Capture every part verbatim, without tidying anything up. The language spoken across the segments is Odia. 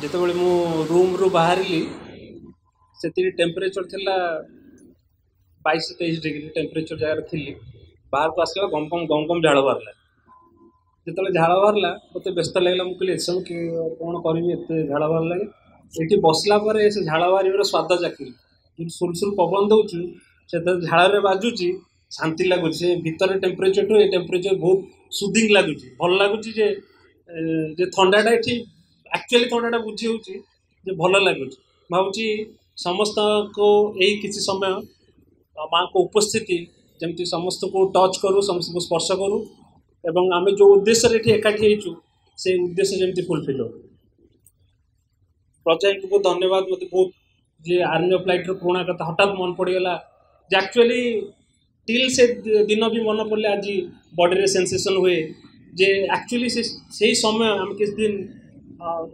ଯେତେବେଳେ ମୁଁ ରୁମ୍ରୁ ବାହାରିଲି ସେତିକି ଟେମ୍ପରେଚର୍ ଥିଲା ବାଇଶ ତେଇଶ ଡିଗ୍ରୀ ଟେମ୍ପରେଚର୍ ଜାଗାରେ ଥିଲି ବାହାରକୁ ଆସିଲା ଗମ ଗମ ଗମ ଗମ ଝାଳ ବାହାରିଲା ଯେତେବେଳେ ଝାଳ ବାହାରିଲା ମୋତେ ବ୍ୟସ୍ତ ଲାଗିଲା ମୁଁ କହିଲି ଏସବୁ କ'ଣ କରିବି ଏତେ ଝାଳ ବାହାରିଲାଣି ଏଠି ବସିଲା ପରେ ସେ ଝାଳ ବାହାରିବାର ସ୍ୱାଦ ଚାଖିଲି ଯେମିତି ସୁଲସୁଲ ପବନ ଦେଉଛି ସେତେବେଳେ ଝାଳରେ ବାଜୁଛି ଶାନ୍ତି ଲାଗୁଛି ସେ ଭିତରେ ଟେମ୍ପରେଚର୍ଠୁ ଏ ଟେମ୍ପରେଚର୍ ବହୁତ ସୁଦିଂ ଲାଗୁଛି ଭଲ ଲାଗୁଛି ଯେ ଯେ ଥଣ୍ଡାଟା ଏଠି ଆକ୍ଚୁଆଲି ଥଣ୍ଡାଟା ବୁଝି ହେଉଛି ଯେ ଭଲ ଲାଗୁଛି ଭାବୁଛି ସମସ୍ତଙ୍କୁ ଏଇ କିଛି ସମୟ ମାଆଙ୍କ ଉପସ୍ଥିତି ଯେମିତି ସମସ୍ତଙ୍କୁ ଟଚ୍ କରୁ ସମସ୍ତଙ୍କୁ ସ୍ପର୍ଶ କରୁ ଏବଂ ଆମେ ଯେଉଁ ଉଦ୍ଦେଶ୍ୟରେ ଏଠି ଏକାଠି ହେଇଛୁ ସେଇ ଉଦ୍ଦେଶ୍ୟ ଯେମିତି ଫୁଲଫିଲ୍ ହଉ ପ୍ରଜାଙ୍କୁ ବହୁତ ଧନ୍ୟବାଦ ମୋତେ ବହୁତ ଯେ ଆର୍ମି ଅଫ୍ ଲାଇଟ୍ର ପୁରୁଣା କଥା ହଠାତ୍ ମନେ ପଡ଼ିଗଲା ଯେ ଆକ୍ଚୁଆଲି ଟିଲ୍ ସେ ଦିନ ବି ମନେ ପଡ଼ିଲେ ଆଜି ବଡ଼ିରେ ସେନ୍ସେସନ୍ ହୁଏ ଯେ ଆକ୍ଚୁଆଲି ସେ ସେଇ ସମୟ ଆମେ କିଛି ଦିନ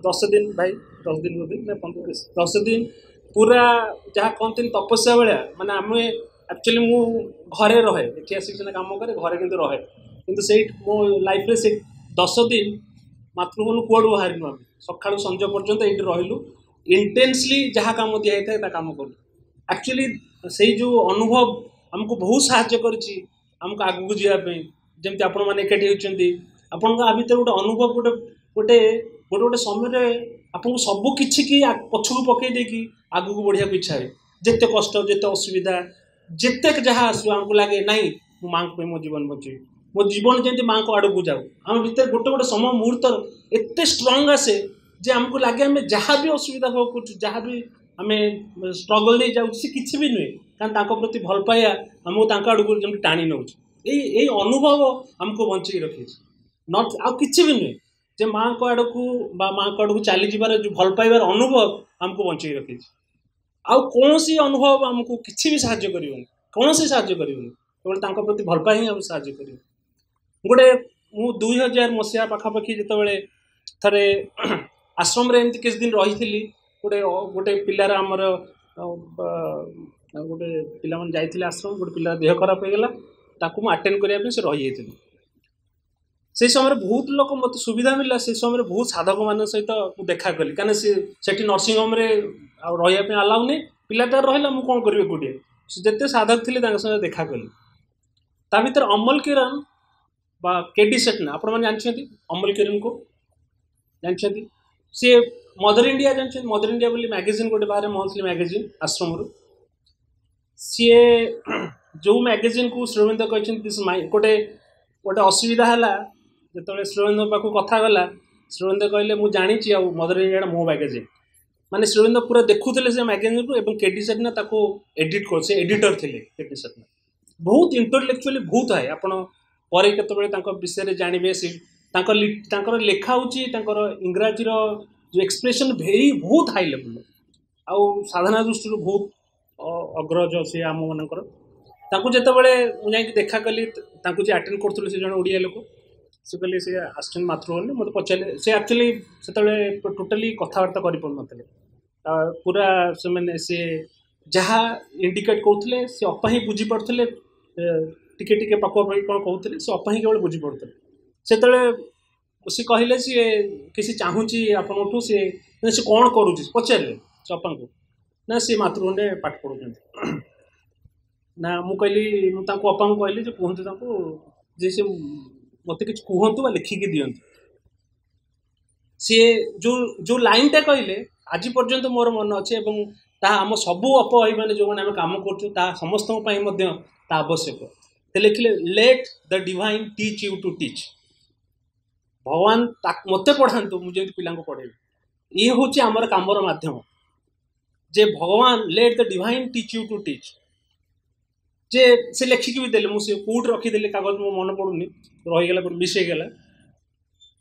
ଦଶ ଦିନ ଭାଇ ଦଶ ଦିନ ବୋଧେ ନା ପନ୍ଦର ଦଶ ଦିନ ପୁରା ଯାହା କହନ୍ତିନି ତପସ୍ୟା ଭଳିଆ ମାନେ ଆମେ ଆକ୍ଚୁଆଲି ମୁଁ ଘରେ ରହେ ଏଠି ଆସିକି ସିନା କାମ କରେ ଘରେ କିନ୍ତୁ ରହେ କିନ୍ତୁ ସେଇ ମୋ ଲାଇଫ୍ରେ ସେ ଦଶ ଦିନ ମାତୃଭବନ କୁଆଡ଼ୁ ବାହାରିନୁ ଆମେ ସକାଳୁ ସଞ୍ଜ ପର୍ଯ୍ୟନ୍ତ ଏଇଠି ରହିଲୁ ଇଣ୍ଟେନ୍ସଲି ଯାହା କାମ ଦିଆହେଇଥାଏ ତା କାମ କଲୁ ଆକ୍ଚୁଆଲି ସେଇ ଯେଉଁ ଅନୁଭବ ଆମକୁ ବହୁତ ସାହାଯ୍ୟ କରିଛି ଆମକୁ ଆଗକୁ ଯିବା ପାଇଁ ଯେମିତି ଆପଣମାନେ ଏକାଠି ହେଉଛନ୍ତି ଆପଣଙ୍କ ଆ ଭିତରେ ଗୋଟେ ଅନୁଭବ ଗୋଟେ ଗୋଟେ ଗୋଟେ ଗୋଟେ ସମୟରେ ଆପଣଙ୍କୁ ସବୁ କିଛି କି ପଛକୁ ପକେଇ ଦେଇକି ଆଗକୁ ବଢ଼ିବାକୁ ଇଚ୍ଛା ହୁଏ ଯେତେ କଷ୍ଟ ଯେତେ ଅସୁବିଧା ଯେତେ ଯାହା ଆସୁ ଆମକୁ ଲାଗେ ନାଇଁ ମୁଁ ମାଆଙ୍କ ପାଇଁ ମୋ ଜୀବନ ବଞ୍ଚେଇବି ମୋ ଜୀବନ ଯେମିତି ମାଆଙ୍କ ଆଡ଼କୁ ଯାଉ ଆମ ଭିତରେ ଗୋଟେ ଗୋଟେ ସମୟ ମୁହୂର୍ତ୍ତ ଏତେ ଷ୍ଟ୍ରଙ୍ଗ ଆସେ ଯେ ଆମକୁ ଲାଗେ ଆମେ ଯାହା ବି ଅସୁବିଧା ଭୋଗ କରୁଛୁ ଯାହା ବି ଆମେ ଷ୍ଟ୍ରଗଲ୍ ଦେଇ ଯାଉଛୁ ସେ କିଛି ବି ନୁହେଁ କାରଣ ତାଙ୍କ ପ୍ରତି ଭଲ ପାଇବା ଆମକୁ ତାଙ୍କ ଆଡ଼କୁ ଯେମିତି ଟାଣି ନେଉଛି ଏଇ ଏଇ ଅନୁଭବ ଆମକୁ ବଞ୍ଚେଇ ରଖିଛି not ଆଉ କିଛି ବି ନୁହେଁ ଯେ ମାଆଙ୍କ ଆଡ଼କୁ ବା ମାଆଙ୍କ ଆଡ଼କୁ ଚାଲିଯିବାର ଯେଉଁ ଭଲ ପାଇବାର ଅନୁଭବ ଆମକୁ ବଞ୍ଚେଇ ରଖିଛି ଆଉ କୌଣସି ଅନୁଭବ ଆମକୁ କିଛି ବି ସାହାଯ୍ୟ କରିବନି କୌଣସି ସାହାଯ୍ୟ କରିବନି କେବଳ ତାଙ୍କ ପ୍ରତି ଭଲ ପାଇବା ହିଁ ଆମକୁ ସାହାଯ୍ୟ କରିବ ଗୋଟେ ମୁଁ ଦୁଇ ହଜାର ମସିହା ପାଖାପାଖି ଯେତେବେଳେ ଥରେ ଆଶ୍ରମରେ ଏମିତି କିଛି ଦିନ ରହିଥିଲି ଗୋଟେ ଗୋଟେ ପିଲାର ଆମର ଗୋଟେ ପିଲାମାନେ ଯାଇଥିଲେ ଆଶ୍ରମ ଗୋଟେ ପିଲାର ଦେହ ଖରାପ ହେଇଗଲା ତାକୁ ମୁଁ ଆଟେଣ୍ଡ କରିବା ପାଇଁ ସେ ରହିଯାଇଥିଲି ସେଇ ସମୟରେ ବହୁତ ଲୋକ ମୋତେ ସୁବିଧା ମିଳିଲା ସେଇ ସମୟରେ ବହୁତ ସାଧକମାନଙ୍କ ସହିତ ମୁଁ ଦେଖା କଲି କାହିଁକିନା ସେ ସେଠି ନର୍ସିଂହୋମ୍ରେ ଆଉ ରହିବା ପାଇଁ ଆଲାଉ ନାହିଁ ପିଲାଟା ରହିଲା ମୁଁ କ'ଣ କରିବି ଏକୁଟିଆ ସେ ଯେତେ ସାଧକ ଥିଲେ ତାଙ୍କ ସହିତ ଦେଖା କଲି ତା ଭିତରେ ଅମଲ କିରଣ ବା କେଡି ସେଠନା ଆପଣମାନେ ଜାଣିଛନ୍ତି ଅମଲ କିରଣକୁ ଜାଣିଛନ୍ତି ସିଏ ମଦର ଇଣ୍ଡିଆ ଜାଣିଛନ୍ତି ମଦର ଇଣ୍ଡିଆ ବୋଲି ମ୍ୟାଗାଜିନ୍ ଗୋଟେ ବାହାରେ ମନ୍ଥଲି ମ୍ୟାଗାଜିନ୍ ଆଶ୍ରମରୁ ସିଏ ଯେଉଁ ମ୍ୟାଗାଜିନ୍କୁ ଶ୍ରୀଅରବିନ୍ଦ କହିଛନ୍ତି this ମାଇ ଗୋଟେ ଗୋଟେ ଅସୁବିଧା ହେଲା ଯେତେବେଳେ ଶ୍ରୀଅରବିନ୍ଦ ପାଖକୁ କଥା ଗଲା ଶ୍ରୀଅରବିନ୍ଦ କହିଲେ ମୁଁ ଜାଣିଛି ଆଉ ମଦର ଇଣ୍ଡିଆଟା ମୋ ମ୍ୟାଗାଜିନ୍ ମାନେ ଶ୍ରୀଅରବିନ୍ଦ ପୁରା ଦେଖୁଥିଲେ ସେ ମ୍ୟାଗାଜିନ୍କୁ ଏବଂ କେଡି ସେଠନା ତାକୁ ଏଡିଟ୍ କରୁ ସେ ଏଡିଟର ଥିଲେ କେଡି ସେଠନା ବହୁତ ଇଣ୍ଟେଲେକ୍ଚୁଆଲି ବହୁତ ହାଇ ଆପଣ ପରେ କେତେବେଳେ ତାଙ୍କ ବିଷୟରେ ଜାଣିବେ ସେ ତାଙ୍କ ତାଙ୍କର ଲେଖା ହେଉଛି ତାଙ୍କର ଇଂରାଜୀର ଯେଉଁ ଏକ୍ସପ୍ରେସନ୍ ଭେରି ବହୁତ ହାଇ ଲେଭେଲ୍ ଆଉ ସାଧନା ଦୃଷ୍ଟିରୁ ବହୁତ ଅଗ୍ରଜ ସେ ଆମମାନଙ୍କର ତାଙ୍କୁ ଯେତେବେଳେ ମୁଁ ଯାଇକି ଦେଖା କଲି ତାଙ୍କୁ ଯିଏ ଆଟେଣ୍ଡ କରୁଥିଲେ ସେ ଜଣେ ଓଡ଼ିଆ ଲୋକ ସେ କହିଲେ ସେ ଆସିଛନ୍ତି ମାତୃଭବନରେ ମୋତେ ପଚାରିଲେ ସେ ଆକ୍ଚୁଆଲି ସେତେବେଳେ ଟୋଟାଲି କଥାବାର୍ତ୍ତା କରିପାରୁନଥିଲେ ପୁରା ସେମାନେ ସେ ଯାହା ଇଣ୍ଡିକେଟ୍ କରୁଥିଲେ ସେ ଅପା ହିଁ ବୁଝିପାରୁଥିଲେ ଟିକେ ଟିକେ ପାଖାପାଖି କ'ଣ କହୁଥିଲେ ସେ ଅପା ହିଁ କେବଳ ବୁଝିପାରୁଥିଲେ ସେତେବେଳେ ସେ କହିଲେ ସିଏ କିଛି ଚାହୁଁଛି ଆପଣଙ୍କଠୁ ସିଏ ସେ କ'ଣ କରୁଛି ପଚାରିଲେ ସେ ଅପାଙ୍କୁ ନା ସେ ମାତୃଭବନରେ ପାଠ ପଢ଼ୁଛନ୍ତି ନା ମୁଁ କହିଲି ମୁଁ ତାଙ୍କୁ ଅପାଙ୍କୁ କହିଲି ଯେ କୁହନ୍ତୁ ତାଙ୍କୁ ଯେ ସେ ମୋତେ କିଛି କୁହନ୍ତୁ ବା ଲେଖିକି ଦିଅନ୍ତୁ ସିଏ ଯେଉଁ ଯେଉଁ ଲାଇନ୍ଟା କହିଲେ ଆଜି ପର୍ଯ୍ୟନ୍ତ ମୋର ମନେ ଅଛି ଏବଂ ତାହା ଆମ ସବୁ ଅପ ଭାଇମାନେ ଯେଉଁମାନେ ଆମେ କାମ କରୁଛୁ ତାହା ସମସ୍ତଙ୍କ ପାଇଁ ମଧ୍ୟ ତାହା ଆବଶ୍ୟକ ସେ ଲେଖିଲେ Let the divine teach you to teach ଭଗବାନ ମୋତେ ପଢ଼ାନ୍ତୁ ମୁଁ ଯେମିତି ପିଲାଙ୍କୁ ପଢ଼େଇବି ଇଏ ହେଉଛି ଆମର କାମର ମାଧ୍ୟମ ଯେ ଭଗବାନ let the divine teach you to teach ଯେ ସେ ଲେଖିକି ବି ଦେଲେ ମୁଁ ସେ କେଉଁଠି ରଖିଦେଲି କାଗଜ ମୋ ମନେ ପଡ଼ୁନି ରହିଗଲା କୋଉଠି ମିସ୍ ହେଇଗଲା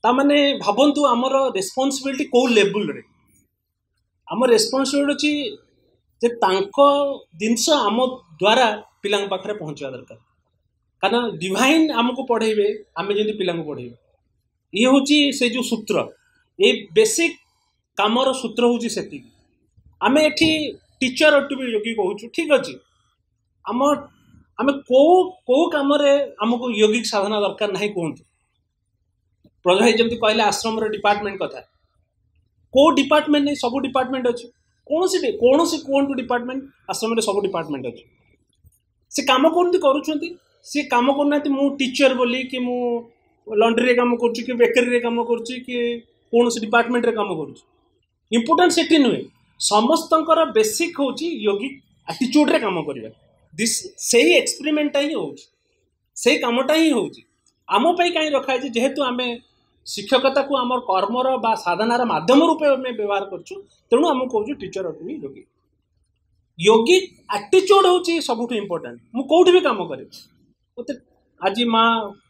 ତାମାନେ ଭାବନ୍ତୁ ଆମର ରେସ୍ପନ୍ସିବିଲିଟି କେଉଁ ଲେବୁଲରେ ଆମ ରେସ୍ପନ୍ସିବିଲିଟି ଅଛି ଯେ ତାଙ୍କ ଜିନିଷ ଆମ ଦ୍ୱାରା ପିଲାଙ୍କ ପାଖରେ ପହଞ୍ଚିବା ଦରକାର କାରଣ ଡିଭାଇନ୍ ଆମକୁ ପଢ଼େଇବେ ଆମେ ଯେମିତି ପିଲାଙ୍କୁ ପଢ଼େଇବେ ଇଏ ହେଉଛି ସେ ଯେଉଁ ସୂତ୍ର ଏଇ ବେସିକ୍ କାମର ସୂତ୍ର ହେଉଛି ସେତିକି ଆମେ ଏଠି ଟିଚର ଟୁ ବି ଯୋଗୀ କହୁଛୁ ଠିକ୍ ଅଛି ଆମ ଆମେ କେଉଁ କେଉଁ କାମରେ ଆମକୁ ୟୋଗିକ ସାଧନା ଦରକାର ନାହିଁ କୁହନ୍ତୁ ପ୍ରଜା ଭାଇ ଯେମିତି କହିଲେ ଆଶ୍ରମର ଡିପାର୍ଟମେଣ୍ଟ କଥା କେଉଁ ଡିପାର୍ଟମେଣ୍ଟ ନାହିଁ, ସବୁ ଡିପାର୍ଟମେଣ୍ଟ ଅଛି। କୌଣସି କୌଣସି କୁହନ୍ତୁ ଡିପାର୍ଟମେଣ୍ଟ, ଆଶ୍ରମରେ ସବୁ ଡିପାର୍ଟମେଣ୍ଟ ଅଛି। ସେ କାମ କରନ୍ତି, କରୁଛନ୍ତି। ସିଏ କାମ କରୁନାହାନ୍ତି ମୁଁ ଟିଚର ବୋଲି କି ମୁଁ ଲଣ୍ଡ୍ରିରେ କାମ କରୁଛି କି ବେକରୀରେ କାମ କରୁଛି କି କୌଣସି ଡିପାର୍ଟମେଣ୍ଟରେ କାମ କରୁଛି। ଇମ୍ପୋର୍ଟାଣ୍ଟ ସେଠି ନୁହେଁ। ସମସ୍ତଙ୍କର ବେସିକ୍ ହେଉଛି ୟୋଗିକ ଆଟିଚ୍ୟୁଡ଼ରେ କାମ କରିବା। This ସେଇ ଏକ୍ସପେରିମେଣ୍ଟଟା ହିଁ ହେଉଛି, ସେଇ କାମଟା ହିଁ ହେଉଛି। ଆମ ପାଇଁ କାହିଁ ରଖାହେଇଛି? ଯେହେତୁ ଆମେ ଶିକ୍ଷକତାକୁ ଆମର କର୍ମର ବା ସାଧନାର ମାଧ୍ୟମ ରୂପେ ଆମେ ବ୍ୟବହାର କରୁଛୁ, ତେଣୁ ଆମକୁ କହୁଛୁ ଟିଚର ଟୁ ବି ଯୋଗୀ। ୟୋଗିକ ଆଟିଚ୍ୟୁଡ଼ ହେଉଛି ସବୁଠୁ ଇମ୍ପୋର୍ଟାଣ୍ଟ। ମୁଁ କେଉଁଠି ବି କାମ କରେ, ମୋତେ ଆଜି ମା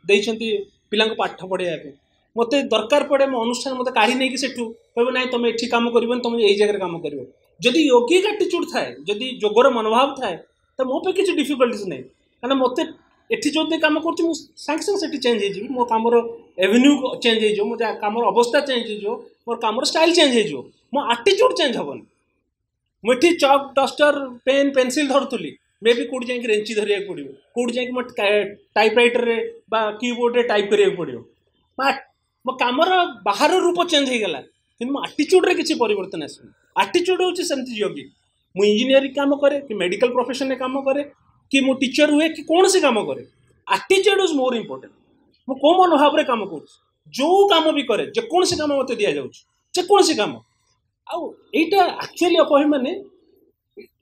ଦେଇଛନ୍ତି ପିଲାଙ୍କୁ ପାଠ ପଢ଼ାଇବା ପାଇଁ, ମୋତେ ଦରକାର ପଡ଼େ ମୋ ଅନୁଷ୍ଠାନ ମୋତେ କାଢ଼ି ନେଇକି ସେଠୁ କହିବ ନାଇଁ ତମେ ଏଠି କାମ କରିବନି, ତମେ ଏଇ ଜାଗାରେ କାମ କରିବ। ଯଦି ୟୋଗିକ ଆଟିଚ୍ୟୁଡ଼ ଥାଏ, ଯଦି ଯୋଗର ମନୋଭାବ ଥାଏ, ତ ମୋ ପାଇଁ କିଛି ଡିଫିକଲ୍ଟିଜ୍ ନାହିଁ। କାରଣ ମୋତେ ଏଠି ଯେଉଁଠି କାମ କରୁଛି ମୁଁ ସାଙ୍ଗେ ସାଙ୍ଗେ ସେଠି ଚେଞ୍ଜ ହେଇଯିବି। ମୋ କାମର ଏଭିନ୍ୟୁ ଚେଞ୍ଜ ହେଇଯିବ, ମୋ କାମର ଅବସ୍ଥା ଚେଞ୍ଜ ହେଇଯିବ, ମୋର କାମର ଷ୍ଟାଇଲ୍ ଚେଞ୍ଜ ହେଇଯିବ, ମୋ ଆଟିଚ୍ୟୁଡ଼ ଚେଞ୍ଜ ହେବନି। ମୁଁ ଏଠି ଚକ୍, ଡଷ୍ଟର, ପେନ୍, ପେନସିଲ୍ ଧରୁଥିଲି, ମେ ବି କେଉଁଠି ଯାଇକି ରେଞ୍ଚି ଧରିବାକୁ ପଡ଼ିବ, କେଉଁଠି ଯାଇକି ମୋ ଟାଇପ୍ ରାଇଟରରେ ବା କିବୋର୍ଡ଼ରେ ଟାଇପ୍ କରିବାକୁ ପଡ଼ିବ। ମୋ କାମର ବାହାର ରୂପ ଚେଞ୍ଜ ହେଇଗଲା, କିନ୍ତୁ ମୋ ଆଟିଚ୍ୟୁଡ଼ରେ କିଛି ପରିବର୍ତ୍ତନ ଆସୁନି। ଆଟିଚ୍ୟୁଡ଼ ହେଉଛି ସେମିତି ଯୋଗୀ। ମୁଁ ଇଞ୍ଜିନିୟରିଂ କାମ କରେ କି ମେଡ଼ିକାଲ ପ୍ରଫେସନରେ କାମ କରେ କି ମୁଁ ଟିଚର ହୁଏ କି କୌଣସି କାମ କରେ, ଆଟିଚ୍ୟୁଡ଼ is ମୋର ଇମ୍ପୋର୍ଟାଣ୍ଟ। ମୁଁ କେଉଁ ମନୋଭାବରେ କାମ କରୁଛି, ଯେଉଁ କାମ ବି କରେ, ଯେକୌଣସି କାମ ମୋତେ ଦିଆଯାଉଛି, ଯେକୌଣସି କାମ। ଆଉ ଏଇଟା ଆକ୍ଚୁଆଲି ଅପଭି ମାନେ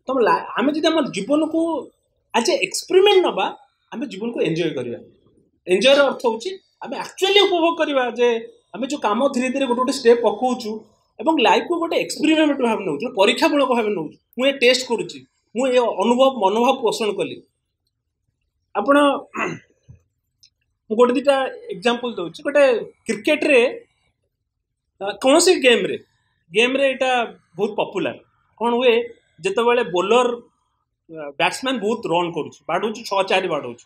ତମ ଆମେ ଯଦି ଆମ ଜୀବନକୁ ଆଜ୍ ଏ ଏକ୍ସପେରିମେଣ୍ଟ ନେବା, ଆମେ ଜୀବନକୁ ଏନ୍ଜୟ କରିବା। ଏନ୍ଜୟର ଅର୍ଥ ହେଉଛି ଆମେ ଆକ୍ଚୁଆଲି ଉପଭୋଗ କରିବା ଯେ ଆମେ ଯେଉଁ କାମ ଧୀରେ ଧୀରେ ଗୋଟେ ଗୋଟେ ଷ୍ଟେପ୍ ପକାଉଛୁ ଏବଂ ଲାଇଫକୁ ଗୋଟେ ଏକ୍ସପେରିମେଣ୍ଟ ଭାବେ ନେଉଛୁ, ପରୀକ୍ଷାମୂଳକ ଭାବେ ନେଉଛୁ। ମୁଁ ଏ ଟେଷ୍ଟ କରୁଛି, ମୁଁ ଏ ଅନୁଭବ ମନୋଭାବ ପୋଷଣ କଲି। ଆପଣ ମୁଁ ଗୋଟେ ଦୁଇଟା ଏକ୍ଜାମ୍ପଲ୍ ଦେଉଛି। ଗୋଟେ କ୍ରିକେଟରେ, କୌଣସି ଗେମ୍ରେ ଗେମ୍ରେ ଏଇଟା ବହୁତ ପପୁଲାର। କ'ଣ ହୁଏ, ଯେତେବେଳେ ବୋଲର ବ୍ୟାଟ୍ସମ୍ୟାନ୍ ବହୁତ ରନ୍ କରୁଛି, ବାଡ଼ଉଛି, ଛଅ ଚାରି ବାଡ଼ଉଛି,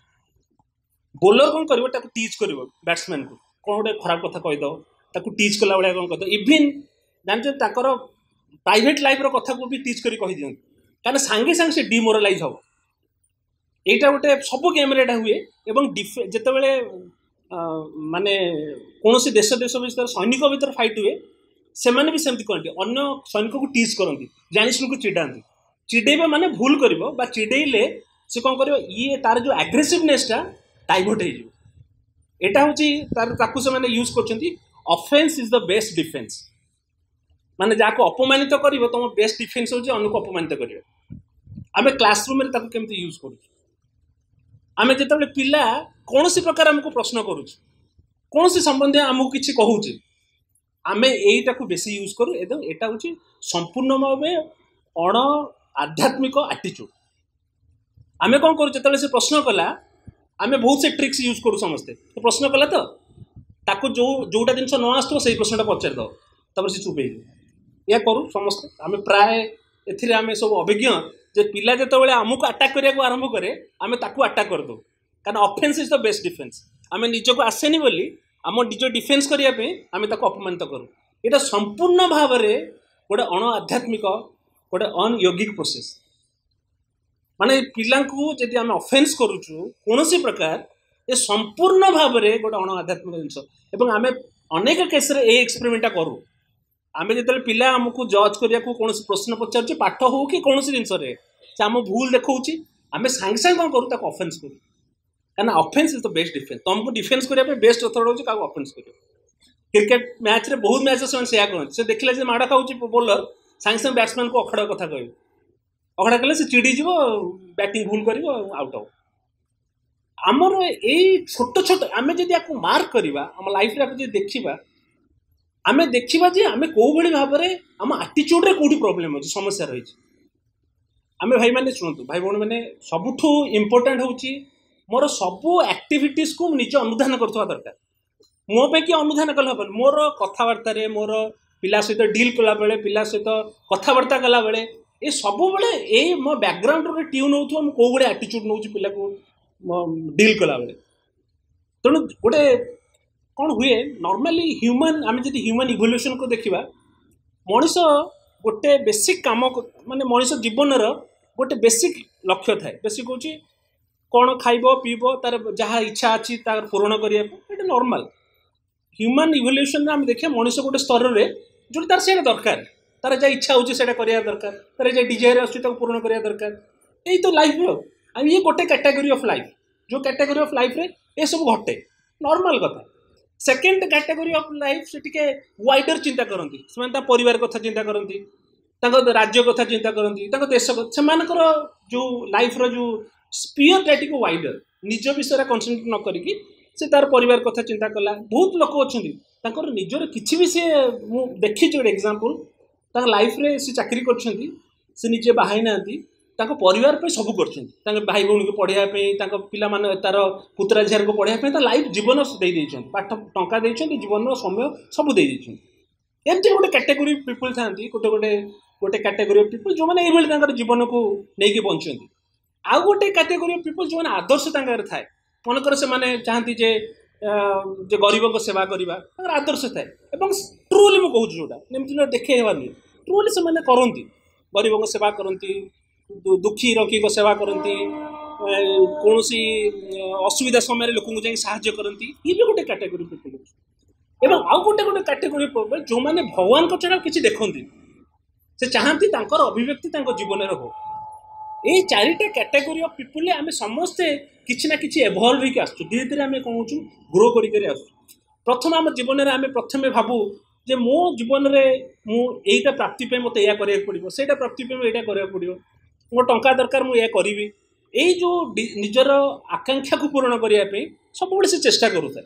ବୋଲର କ'ଣ କରିବ, ତାକୁ ଟିଚ୍ କରିବ ବ୍ୟାଟ୍ସମ୍ୟାନ୍କୁ, କ'ଣ ଗୋଟେ ଖରାପ କଥା କହିଦେବ, ତାକୁ ଟିଚ୍ କଲା ଭଳିଆ କ'ଣ କହିଦେବ। ଇଭିନ୍ ଜାଣିଛନ୍ତି ତାଙ୍କର ପ୍ରାଇଭେଟ୍ ଲାଇଫ୍ର କଥାକୁ ବି ଟିଚ୍ କରି କହିଦିଅନ୍ତି, କାରଣ ସାଙ୍ଗେ ସାଙ୍ଗେ ସେ ଡିମୋରାଲାଇଜ୍ ହେବ। ଏଇଟା ଗୋଟେ ସବୁ ଗେମ୍ରେ ଏଇଟା ହୁଏ। ଏବଂ ଡିଫେ ଯେତେବେଳେ ମାନେ କୌଣସି ଦେଶ ଦେଶ ଭିତରେ ସୈନିକ ଭିତରେ ଫାଇଟ୍ ହୁଏ, ସେମାନେ ବି ସେମିତି କରନ୍ତି, ଅନ୍ୟ ସୈନିକକୁ ଟିଚ୍ କରନ୍ତି, ଜାଣିଶୁଣିକୁ ଚିଡ଼ାନ୍ତି। ଚିଡ଼େଇବା ମାନେ ଭୁଲ କରିବ ବା ଚିଡ଼େଇଲେ ସେ କ'ଣ କରିବ, ଇଏ ତାର ଯେଉଁ ଆଗ୍ରେସିଭନେସ୍ଟା ଡାଇଭର୍ଟ ହେଇଯିବ। ଏଇଟା ହେଉଛି ତାର, ତାକୁ ସେମାନେ ୟୁଜ୍ କରୁଛନ୍ତି offence is the best defence. ମାନେ ଯାହାକୁ ଅପମାନିତ କରିବ, ତମ ବେଷ୍ଟ ଡିଫେନ୍ସ ହେଉଛି ଅନ୍ୟକୁ ଅପମାନିତ କରିବ। ଆମେ କ୍ଲାସରୁମ୍ରେ ତାକୁ କେମିତି ୟୁଜ୍ କରୁଛୁ? ଆମେ ଯେତେବେଳେ ପିଲା କୌଣସି ପ୍ରକାର ଆମକୁ ପ୍ରଶ୍ନ କରୁଛୁ, କୌଣସି ସମ୍ବନ୍ଧୀୟ ଆମକୁ କିଛି କହୁଛି, ଆମେ ଏଇଟାକୁ ବେଶୀ ୟୁଜ୍ କରୁ। ଏବଂ ଏଇଟା ହେଉଛି ସମ୍ପୂର୍ଣ୍ଣ ଭାବେ ଅଣ ଆଧ୍ୟାତ୍ମିକ ଆଟିଚ୍ୟୁଡ଼। ଆମେ କ'ଣ କରୁ, ଯେତେବେଳେ ସେ ପ୍ରଶ୍ନ କଲା, ଆମେ ବହୁତ ସେ ଟ୍ରିକ୍ସ ୟୁଜ୍ କରୁ ସମସ୍ତେ। ପ୍ରଶ୍ନ କଲା ତ ତାକୁ ଯେଉଁ ଯେଉଁଟା ଜିନିଷ ନ ଆସୁଥିବ ସେଇ ପ୍ରଶ୍ନଟା ପଚାରିଦେବ, ତାପରେ ସେ ଚୁପ୍ ହେଇଯିବ। ଏହା କରୁ ସମସ୍ତେ। ଆମେ ପ୍ରାୟ ଏଥିରେ ଆମେ ସବୁ ଅଭିଜ୍ଞ ଯେ ପିଲା ଯେତେବେଳେ ଆମକୁ ଆଟାକ୍ କରିବାକୁ ଆରମ୍ଭ କରେ, ଆମେ ତାକୁ ଆଟାକ୍ କରିଦେଉ। କାରଣ offence is the best defence. ଆମେ ନିଜକୁ ଆସେନି ବୋଲି ଆମ ନିଜ ଡିଫେନ୍ସ କରିବା ପାଇଁ ଆମେ ତାକୁ ଅପମାନିତ କରୁ। ଏଇଟା ସମ୍ପୂର୍ଣ୍ଣ ଭାବରେ ଗୋଟେ ଅଣ ଆଧ୍ୟାତ୍ମିକ, ଗୋଟେ ଅନୟୋଗିକ ପ୍ରୋସେସ୍। ମାନେ ପିଲାଙ୍କୁ ଯଦି ଆମେ ଅଫେନ୍ସ କରୁଛୁ କୌଣସି ପ୍ରକାର, ଏ ସମ୍ପୂର୍ଣ୍ଣ ଭାବରେ ଗୋଟେ ଅଣ ଆଧ୍ୟାତ୍ମିକ ଜିନିଷ। ଏବଂ ଆମେ ଅନେକ କେସ୍ରେ ଏଇ ଏକ୍ସପେରିମେଣ୍ଟଟା କରୁ। ଆମେ ଯେତେବେଳେ ପିଲା ଆମକୁ ଜଜ୍ କରିବାକୁ କୌଣସି ପ୍ରଶ୍ନ ପଚାରୁଛି, ପାଠ ହଉ କି କୌଣସି ଜିନିଷରେ ସେ ଆମ ଭୁଲ ଦେଖାଉଛି, ଆମେ ସାଙ୍ଗେ ସାଙ୍ଗେ କ'ଣ କରୁ, ତାକୁ ଅଫେନ୍ସ କରୁ। କାରଣ offence is the best defence. ତୁମକୁ ଡିଫେନ୍ସ କରିବା ପାଇଁ ବେଷ୍ଟ ମେଥଡ଼ ହେଉଛି କାହାକୁ ଅଫେନ୍ସ କରିବା। କ୍ରିକେଟ ମ୍ୟାଚ୍ରେ ବହୁତ ମ୍ୟାଚ୍ରେ ସେମାନେ ସେଇଆ କରନ୍ତି। ସେ ଦେଖିଲେ ଯେ ମାଡ଼ ଖାଉଛି ବୋଲର, ସାଙ୍ଗେ ସାଙ୍ଗେ ବ୍ୟାଟ୍ସମ୍ୟାନ୍କୁ ଅଖଡ଼ା କଥା କହିବେ। ଅଖଡ଼ା କଲେ ସେ ଚିଡ଼ିଯିବ, ବ୍ୟାଟିଂ ଭୁଲ କରିବ, ଆଉଟ୍ ହେବ। ଆମର ଏଇ ଛୋଟ ଛୋଟ ଆମେ ଯଦି ଆକୁ ମାର୍କ କରିବା, ଆମ ଲାଇଫ୍ରେ ଆକୁ ଯଦି ଦେଖିବା, ଆମେ ଦେଖିବା ଯେ ଆମେ କେଉଁଭଳି ଭାବରେ ଆମ ଆଟିଚ୍ୟୁଡ଼ରେ କେଉଁଠି ପ୍ରୋବ୍ଲେମ୍ ଅଛି, ସମସ୍ୟା ରହିଛି। ଆମେ ଭାଇମାନେ ଶୁଣନ୍ତୁ, ଭାଇ ଭଉଣୀମାନେ, ସବୁଠୁ ଇମ୍ପୋର୍ଟାଣ୍ଟ ହେଉଛି ମୋର ସବୁ ଆକ୍ଟିଭିଟିସ୍କୁ ମୁଁ ନିଜେ ଅନୁଧ୍ୟାନ କରୁଥିବା ଦରକାର। ମୋ ପାଇଁ କିଏ ଅନୁଧ୍ୟାନ କଲେ ହେବନି। ମୋର କଥାବାର୍ତ୍ତାରେ, ମୋର ପିଲା ସହିତ ଡିଲ୍ କଲାବେଳେ, ପିଲା ସହିତ କଥାବାର୍ତ୍ତା କଲାବେଳେ, ଏ ସବୁବେଳେ ଏଇ ମୋ ବ୍ୟାକଗ୍ରାଉଣ୍ଡରେ ଟ୍ୟୁନ୍ ହେଉଥିବ ମୁଁ କେଉଁ ଭଳିଆ ଆଟିଚ୍ୟୁଡ଼ ନେଉଛି ପିଲାକୁ ଡିଲ୍ କଲାବେଳେ। ତେଣୁ ଗୋଟେ କ'ଣ ହୁଏ, ନର୍ମାଲି ହ୍ୟୁମାନ୍, ଆମେ ଯଦି ହ୍ୟୁମାନ୍ ଇଭଲ୍ୟୁସନ୍କୁ ଦେଖିବା, ମଣିଷ ଗୋଟେ ବେସିକ୍ କାମ, ମାନେ ମଣିଷ ଜୀବନର ଗୋଟେ ବେସିକ୍ ଲକ୍ଷ୍ୟ ଥାଏ। ବେସିକ୍ ହେଉଛି କ'ଣ ଖାଇବ ପିଇବ, ତାର ଯାହା ଇଚ୍ଛା ଅଛି ତାର ପୂରଣ କରିବାକୁ। ଏଇଟା ନର୍ମାଲ ହ୍ୟୁମାନ୍ ଇଭଲ୍ୟୁସନ୍ରେ ଆମେ ଦେଖିବା, ମଣିଷ ଗୋଟେ ସ୍ତରରେ ଯେଉଁଠି ତାର ସେଇଟା ଦରକାର ତାର ଯାହା ଇଚ୍ଛା ହେଉଛି ସେଇଟା କରିବା ଦରକାର ତାର ଯାହା ଡିଜାୟାର ଆସୁଛି ତାକୁ ପୂରଣ କରିବା ଦରକାର ଏଇ ତ ଲାଇଫ୍ ଆଉ ଆଉ ଇଏ ଗୋଟେ କ୍ୟାଟାଗୋରୀ ଅଫ୍ ଲାଇଫ୍ ଯେଉଁ କ୍ୟାଟାଗୋରୀ ଅଫ୍ ଲାଇଫ୍ରେ ଏସବୁ ଘଟେ ନର୍ମାଲ କଥା ସେକେଣ୍ଡ କ୍ୟାଟାଗୋରୀ ଅଫ୍ ଲାଇଫ୍ ସେ ଟିକେ ୱାଇଡର ଚିନ୍ତା କରନ୍ତି ସେମାନେ ତା ପରିବାର କଥା ଚିନ୍ତା କରନ୍ତି ତାଙ୍କ ରାଜ୍ୟ କଥା ଚିନ୍ତା କରନ୍ତି ତାଙ୍କ ଦେଶ କଥା ସେମାନଙ୍କର ଯେଉଁ ଲାଇଫ୍ର ଯେଉଁ ସ୍ପିୟରଟା ଟିକେ ୱାଇଡର ନିଜ ବିଷୟରେ କନସେନ୍ଟ୍ରେଟ୍ ନ କରିକି ସେ ତାର ପରିବାର କଥା ଚିନ୍ତା କଲା ବହୁତ ଲୋକ ଅଛନ୍ତି ତାଙ୍କର ନିଜର କିଛି ବି ସିଏ ମୁଁ ଦେଖିଛି ଗୋଟେ ଏକ୍ଜାମ୍ପଲ୍ ତାଙ୍କ ଲାଇଫ୍ରେ ସେ ଚାକିରି କରିଛନ୍ତି ସେ ନିଜେ ବାହା ହେଇନାହାନ୍ତି ତାଙ୍କ ପରିବାର ପାଇଁ ସବୁ କରିଛନ୍ତି ତାଙ୍କ ଭାଇ ଭଉଣୀକୁ ପଢ଼ିବା ପାଇଁ ତାଙ୍କ ପିଲାମାନେ ତାର ପୁତୁରା ଝିଅକୁ ପଢ଼ିବା ପାଇଁ ତା ଲାଇଫ୍ ଜୀବନ ଦେଇ ଦେଇଛନ୍ତି ପାଠ ଟଙ୍କା ଦେଇଛନ୍ତି ଜୀବନର ସମୟ ସବୁ ଦେଇ ଦେଇଛନ୍ତି ଏମିତି ଗୋଟେ କ୍ୟାଟେଗୋରୀ ପିପୁଲ୍ ଥାନ୍ତି ଗୋଟେ ଗୋଟେ ଗୋଟେ କ୍ୟାଟେଗୋରୀ ଅଫ୍ ପିପୁଲ୍ ଯେଉଁମାନେ ଏଇଭଳି ତାଙ୍କର ଜୀବନକୁ ନେଇକି ବଞ୍ଚନ୍ତି ଆଉ ଗୋଟେ କ୍ୟାଟେଗୋରୀ ଅଫ୍ ପିପୁଲ୍ ଯେଉଁମାନେ ଆଦର୍ଶ ତାଙ୍କର ଥାଏ ମନେକର ସେମାନେ ଚାହାନ୍ତି ଯେ ଯେ ଗରିବଙ୍କ ସେବା କରିବା ତାଙ୍କର ଆଦର୍ଶ ଥାଏ ଏବଂ ଟ୍ରୁଲି ମୁଁ କହୁଛି ଯେଉଁଟା ଏମିତି ଦେଖେଇ ହେବାର ନୁହେଁ ଟ୍ରୁଲି ସେମାନେ କରନ୍ତି ଗରିବଙ୍କ ସେବା କରନ୍ତି ଦୁଃଖୀ ରଙ୍କୀଙ୍କ ସେବା କରନ୍ତି କୌଣସି ଅସୁବିଧା ସମୟରେ ଲୋକଙ୍କୁ ଯାଇ ସାହାଯ୍ୟ କରନ୍ତି ଇଏ ବି ଗୋଟେ କ୍ୟାଟେଗୋରୀ ପିପୁଲ୍ ଅଛି ଏବଂ ଆଉ ଗୋଟେ ଗୋଟେ କ୍ୟାଟେଗୋରୀ ଯେଉଁମାନେ ଭଗବାନଙ୍କ ଛଡ଼ା କିଛି ଦେଖନ୍ତିନି ସେ ଚାହାନ୍ତି ତାଙ୍କର ଅଭିବ୍ୟକ୍ତି ତାଙ୍କ ଜୀବନରେ ହଉ ଏଇ ଚାରିଟା କ୍ୟାଟେଗୋରୀ ଅଫ୍ ପିପୁଲରେ ଆମେ ସମସ୍ତେ କିଛି ନା କିଛି ଏଭଲ୍ଭ ହେଇକି ଆସୁଛୁ ଧୀରେ ଧୀରେ ଆମେ କ'ଣ ହେଉଛୁ ଗ୍ରୋ କରି କରି ଆସୁଛୁ ପ୍ରଥମେ ଆମ ଜୀବନରେ ଆମେ ପ୍ରଥମେ ଭାବୁ ଯେ ମୋ ଜୀବନରେ ମୁଁ ଏଇଟା ପ୍ରାପ୍ତି ପାଇଁ ମୋତେ ଏଇଆ କରିବାକୁ ପଡ଼ିବ ସେଇଟା ପ୍ରାପ୍ତି ପାଇଁ ମୁଁ ଏଇଟା କରିବାକୁ ପଡ଼ିବ ମୋ ଟଙ୍କା ଦରକାର ମୁଁ ଏଇଆ କରିବି ଏଇ ଯେଉଁ ନିଜର ଆକାଂକ୍ଷାକୁ ପୂରଣ କରିବା ପାଇଁ ସବୁବେଳେ ସେ ଚେଷ୍ଟା କରୁଥାଏ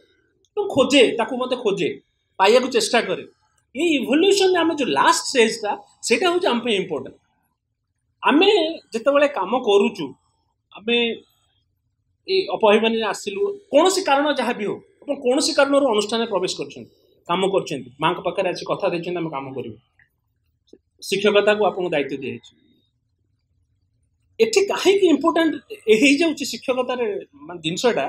ଏବଂ ଖୋଜେ ତାକୁ ମୋତେ ଖୋଜେ ପାଇବାକୁ ଚେଷ୍ଟା କରେ ଏଇ ଇଭଲ୍ୟୁସନ୍ ଆମ ଯେଉଁ ଲାଷ୍ଟ ଷ୍ଟେଜ୍ଟା ସେଇଟା ହେଉଛି ଆମ ପାଇଁ ଇମ୍ପୋର୍ଟାଣ୍ଟ ଆମେ ଯେତେବେଳେ କାମ କରୁଛୁ ଆମେ ଏଇ ଅପଭିମାନରେ ଆସିଲୁ କୌଣସି କାରଣ ଯାହା ବି ହଉ ଆପଣ କୌଣସି କାରଣରୁ ଅନୁଷ୍ଠାନରେ ପ୍ରବେଶ କରିଛନ୍ତି କାମ କରୁଛନ୍ତି ମାଙ୍କ ପାଖରେ ଆସି କଥା ଦେଇଛନ୍ତି ଆମେ କାମ କରିବୁ ଶିକ୍ଷକତାକୁ ଆପଣଙ୍କୁ ଦାୟିତ୍ୱ ଦିଆଯାଇଛି ଏଠି କାହିଁକି ଇମ୍ପୋର୍ଟାଣ୍ଟ ହେଇଯାଉଛି ଶିକ୍ଷକତାରେ ମାନେ ଜିନିଷଟା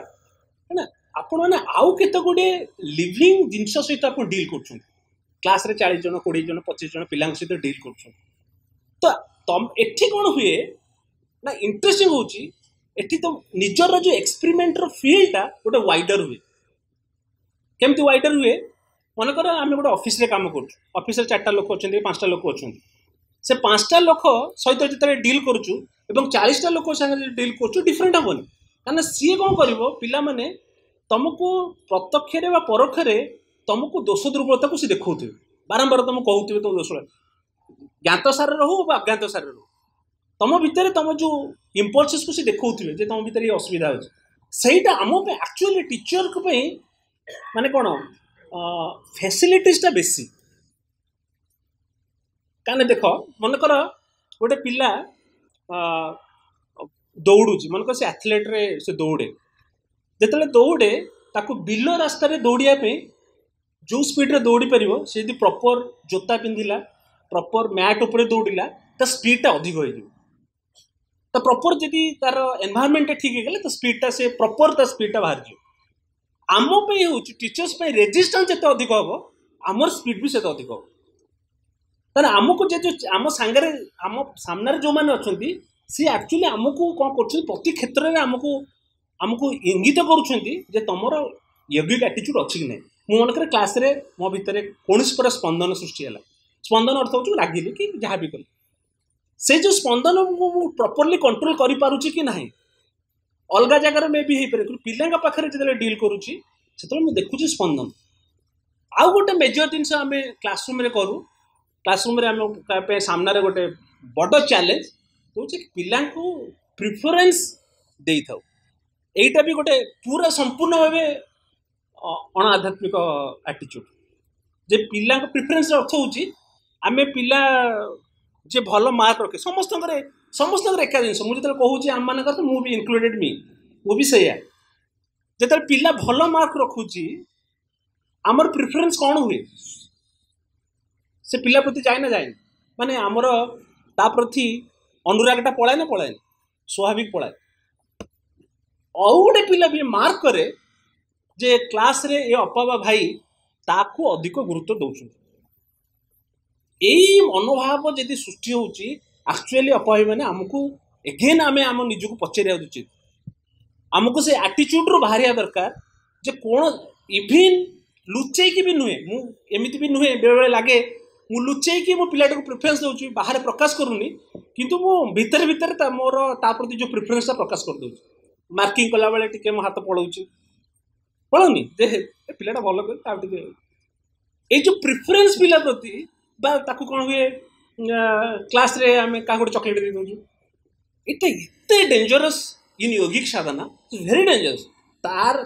ନା ଆପଣମାନେ ଆଉ କେତେ ଗୁଡ଼ିଏ ଲିଭିଂ ଜିନିଷ ସହିତ ଆପଣ ଡିଲ୍ କରୁଛନ୍ତି କ୍ଲାସ୍ରେ ଚାଳିଶ ଜଣ କୋଡ଼ିଏ ଜଣ ପଚିଶ ଜଣ ପିଲାଙ୍କ ସହିତ ଡିଲ୍ କରୁଛନ୍ତି ତ ତମ ଏଠି କ'ଣ ହୁଏ ନା ଇଣ୍ଟରେଷ୍ଟିଂ ହେଉଛି ଏଠି ତ ନିଜର ଯେଉଁ ଏକ୍ସପେରିମେଣ୍ଟର ଫିଲ୍ଡଟା ଗୋଟେ ୱାଇଡର ହୁଏ କେମିତି ୱାଇଡର ହୁଏ ମନେକର ଆମେ ଗୋଟେ ଅଫିସରେ କାମ କରୁଛୁ ଅଫିସରେ ଚାରିଟା ଲୋକ ଅଛନ୍ତି ପାଞ୍ଚଟା ଲୋକ ଅଛନ୍ତି ସେ ପାଞ୍ଚଟା ଲୋକ ସହିତ ଯେତେବେଳେ ଡିଲ୍ କରୁଛୁ ଏବଂ ଚାଳିଶଟା ଲୋକ ସାଙ୍ଗରେ ଡିଲ୍ କରୁଛୁ ଡିଫରେଣ୍ଟ ହେବନି କାରଣ ସିଏ କ'ଣ କରିବ ପିଲାମାନେ ତମକୁ ପ୍ରତ୍ୟକ୍ଷରେ ବା ପରୋକ୍ଷରେ ତମକୁ ଦୋଷ ଦୁର୍ବଳତାକୁ ସେ ଦେଖାଉଥିବେ ବାରମ୍ବାର ତମକୁ କହୁଥିବେ ତମ ଦୋଷ ଜ୍ଞାତ ସାରରେ ହଉ ବା ଅଜ୍ଞାତ ସାରରେ ହଉ ତମ ଭିତରେ ତମ ଯେଉଁ ଇମ୍ପଲସେସକୁ ସେ ଦେଖାଉଥିବେ ଯେ ତମ ଭିତରେ ଏଇ ଅସୁବିଧା ଅଛି ସେଇଟା ଆମ ପାଇଁ ଆକ୍ଚୁଆଲି ଟିଚରଙ୍କ ପାଇଁ ମାନେ କ'ଣ ଫ୍ୟାସିଲିଟିଜଟା ବେଶୀ କାହିଁକି ଦେଖ ମନେକର ଗୋଟେ ପିଲା ଦୌଡ଼ୁଛି ମନେକର ସେ ଆଥଲେଟ୍ରେ ସେ ଦୌଡ଼େ ଯେତେବେଳେ ଦୌଡ଼େ ତାକୁ ବିଲ ରାସ୍ତାରେ ଦୌଡ଼ିବା ପାଇଁ ଯେଉଁ ସ୍ପିଡ଼ରେ ଦୌଡ଼ି ପାରିବ ସେ ଯଦି ପ୍ରପର୍ ଜୋତା ପିନ୍ଧିଲା ପ୍ରପର୍ ମ୍ୟାଟ୍ ଉପରେ ଦୌଡ଼ିଲା ତା ସ୍ପିଡ଼ଟା ଅଧିକ ହେଇଯିବ ତ ପ୍ରପର୍ ଯଦି ତାର ଏନଭାରମେଣ୍ଟଟା ଠିକ୍ ହେଇଗଲେ ତା ସ୍ପିଡ଼ଟା ସେ ପ୍ରପର୍ ତା ସ୍ପିଡ଼ଟା ବାହାରିଯିବ ଆମ ପାଇଁ ହେଉଛି ଟିଚର୍ସ ପାଇଁ ରେଜିଷ୍ଟାନ୍ସ ଯେତେ ଅଧିକ ହେବ ଆମର ସ୍ପିଡ଼ ବି ସେତେ ଅଧିକ ହେବ ତାହେଲେ ଆମକୁ ଯେ ଯେଉଁ ଆମ ସାଙ୍ଗରେ ଆମ ସାମ୍ନାରେ ଯେଉଁମାନେ ଅଛନ୍ତି ସିଏ ଆକ୍ଚୁଆଲି ଆମକୁ କ'ଣ କରୁଛନ୍ତି ପ୍ରତି କ୍ଷେତ୍ରରେ ଆମକୁ ଆମକୁ ଇଙ୍ଗିତ କରୁଛନ୍ତି ଯେ ତମର ୟୋଗିକ ଆଟିଚ୍ୟୁଡ଼ ଅଛି କି ନାହିଁ ମୁଁ ମନେକରେ କ୍ଲାସ୍ରେ ମୋ ଭିତରେ କୌଣସି ପ୍ରକାର ସ୍ପନ୍ଦନ ସୃଷ୍ଟି ହେଲା ସ୍ପନ୍ଦନ ଅର୍ଥ ହେଉଛି ରାଗିଲି କି ଯାହା ବି କଲି ସେ ଯେଉଁ ସ୍ପନ୍ଦନକୁ ମୁଁ ପ୍ରପରଲି କଣ୍ଟ୍ରୋଲ କରିପାରୁଛି କି ନାହିଁ ଅଲଗା ଜାଗାରେ ମେ ବି ହେଇପାରେ କିନ୍ତୁ ପିଲାଙ୍କ ପାଖରେ ଯେତେବେଳେ ଡିଲ୍ କରୁଛି ସେତେବେଳେ ମୁଁ ଦେଖୁଛି ସ୍ପନ୍ଦନ ଆଉ ଗୋଟେ ମେଜର ଜିନିଷ ଆମେ କ୍ଲାସରୁମ୍ରେ କରୁ କ୍ଲାସରୁମ୍ରେ ଆମ ପାଇଁ ସାମ୍ନାରେ ଗୋଟେ ବଡ଼ ଚ୍ୟାଲେଞ୍ଜ ହେଉଛି ପିଲାଙ୍କୁ ପ୍ରିଫରେନ୍ସ ଦେଇଥାଉ ଏଇଟା ବି ଗୋଟେ ପୁରା ସମ୍ପୂର୍ଣ୍ଣ ଭାବେ ଅଣ ଆଧ୍ୟାତ୍ମିକ ଆଟିଚ୍ୟୁଡ଼ ଯେ ପିଲାଙ୍କ ପ୍ରିଫରେନ୍ସର ଅର୍ଥ ହେଉଛି ଆମେ ପିଲା ଯେ ଭଲ ମାର୍କ ରଖେ ସମସ୍ତଙ୍କର ସମସ୍ତଙ୍କର ଏକା ଜିନିଷ ମୁଁ ଯେତେବେଳେ କହୁଛି ଆମମାନଙ୍କର ତ ମୁଁ ବି ଇନକ୍ଲୁଡେଡ଼ ମି ମୁଁ ବି ସେଇଆ ଯେତେବେଳେ ପିଲା ଭଲ ମାର୍କ ରଖୁଛି ଆମର ପ୍ରିଫରେନ୍ସ କ'ଣ ହୁଏ ସେ ପିଲା ପ୍ରତି ଯାଏ ନା ଯାଏନି ମାନେ ଆମର ତା ପ୍ରତି ଅନୁରାଗଟା ପଳାଏ ନା ପଳାଏନି ସ୍ୱାଭାବିକ ପଳାଏ ଆଉ ଗୋଟେ ପିଲା ବି ମାର୍କ କରେ ଯେ କ୍ଲାସ୍ରେ ଏ ଅପା ବା ଭାଇ ତାକୁ ଅଧିକ ଗୁରୁତ୍ୱ ଦେଉଛନ୍ତି ଏଇ ମନୋଭାବ ଯଦି ସୃଷ୍ଟି ହେଉଛି ଆକ୍ଚୁଆଲି ଅପା ଭାଇମାନେ ଆମକୁ ଏଗେନ୍ ଆମେ ଆମ ନିଜକୁ ପଚାରିବା ଉଚିତ ଆମକୁ ସେ ଆଟିଚ୍ୟୁଡ଼ରୁ ବାହାରିବା ଦରକାର ଯେ କ'ଣ ଇଭିନ୍ ଲୁଚେଇକି ବି ନୁହେଁ ମୁଁ ଏମିତି ବି ନୁହେଁ ବେଳେବେଳେ ଲାଗେ ମୁଁ ଲୁଚେଇକି ମୋ ପିଲାଟାକୁ ପ୍ରିଫରେନ୍ସ ଦେଉଛି, ବାହାରେ ପ୍ରକାଶ କରୁନି, କିନ୍ତୁ ମୁଁ ଭିତରେ ଭିତରେ ତା ମୋର ତା ପ୍ରତି ଯେଉଁ ପ୍ରିଫରେନ୍ସଟା ପ୍ରକାଶ କରିଦେଉଛି। ମାର୍କିଂ କଲାବେଳେ ଟିକେ ମୋ ହାତ ପଳଉଛି, ପଳଉନି ଯେ ଏ ପିଲାଟା ଭଲ କରି ତାକୁ ଟିକେ ଏଇ ଯେଉଁ ପ୍ରିଫରେନ୍ସ ପିଲା ପ୍ରତି ବା ତାକୁ କ'ଣ ହୁଏ କ୍ଲାସ୍ରେ ଆମେ କାହାକୁ ଗୋଟେ ଚକୋଲେଟ୍ ଦେଇ ଦେଉଛୁ। ଏଇଟା ଏତେ ଡେଞ୍ଜରସ୍ ଇନ୍ ୟୋଗିକ ସାଧନା, ଭେରି ଡେଞ୍ଜରସ୍। ତାର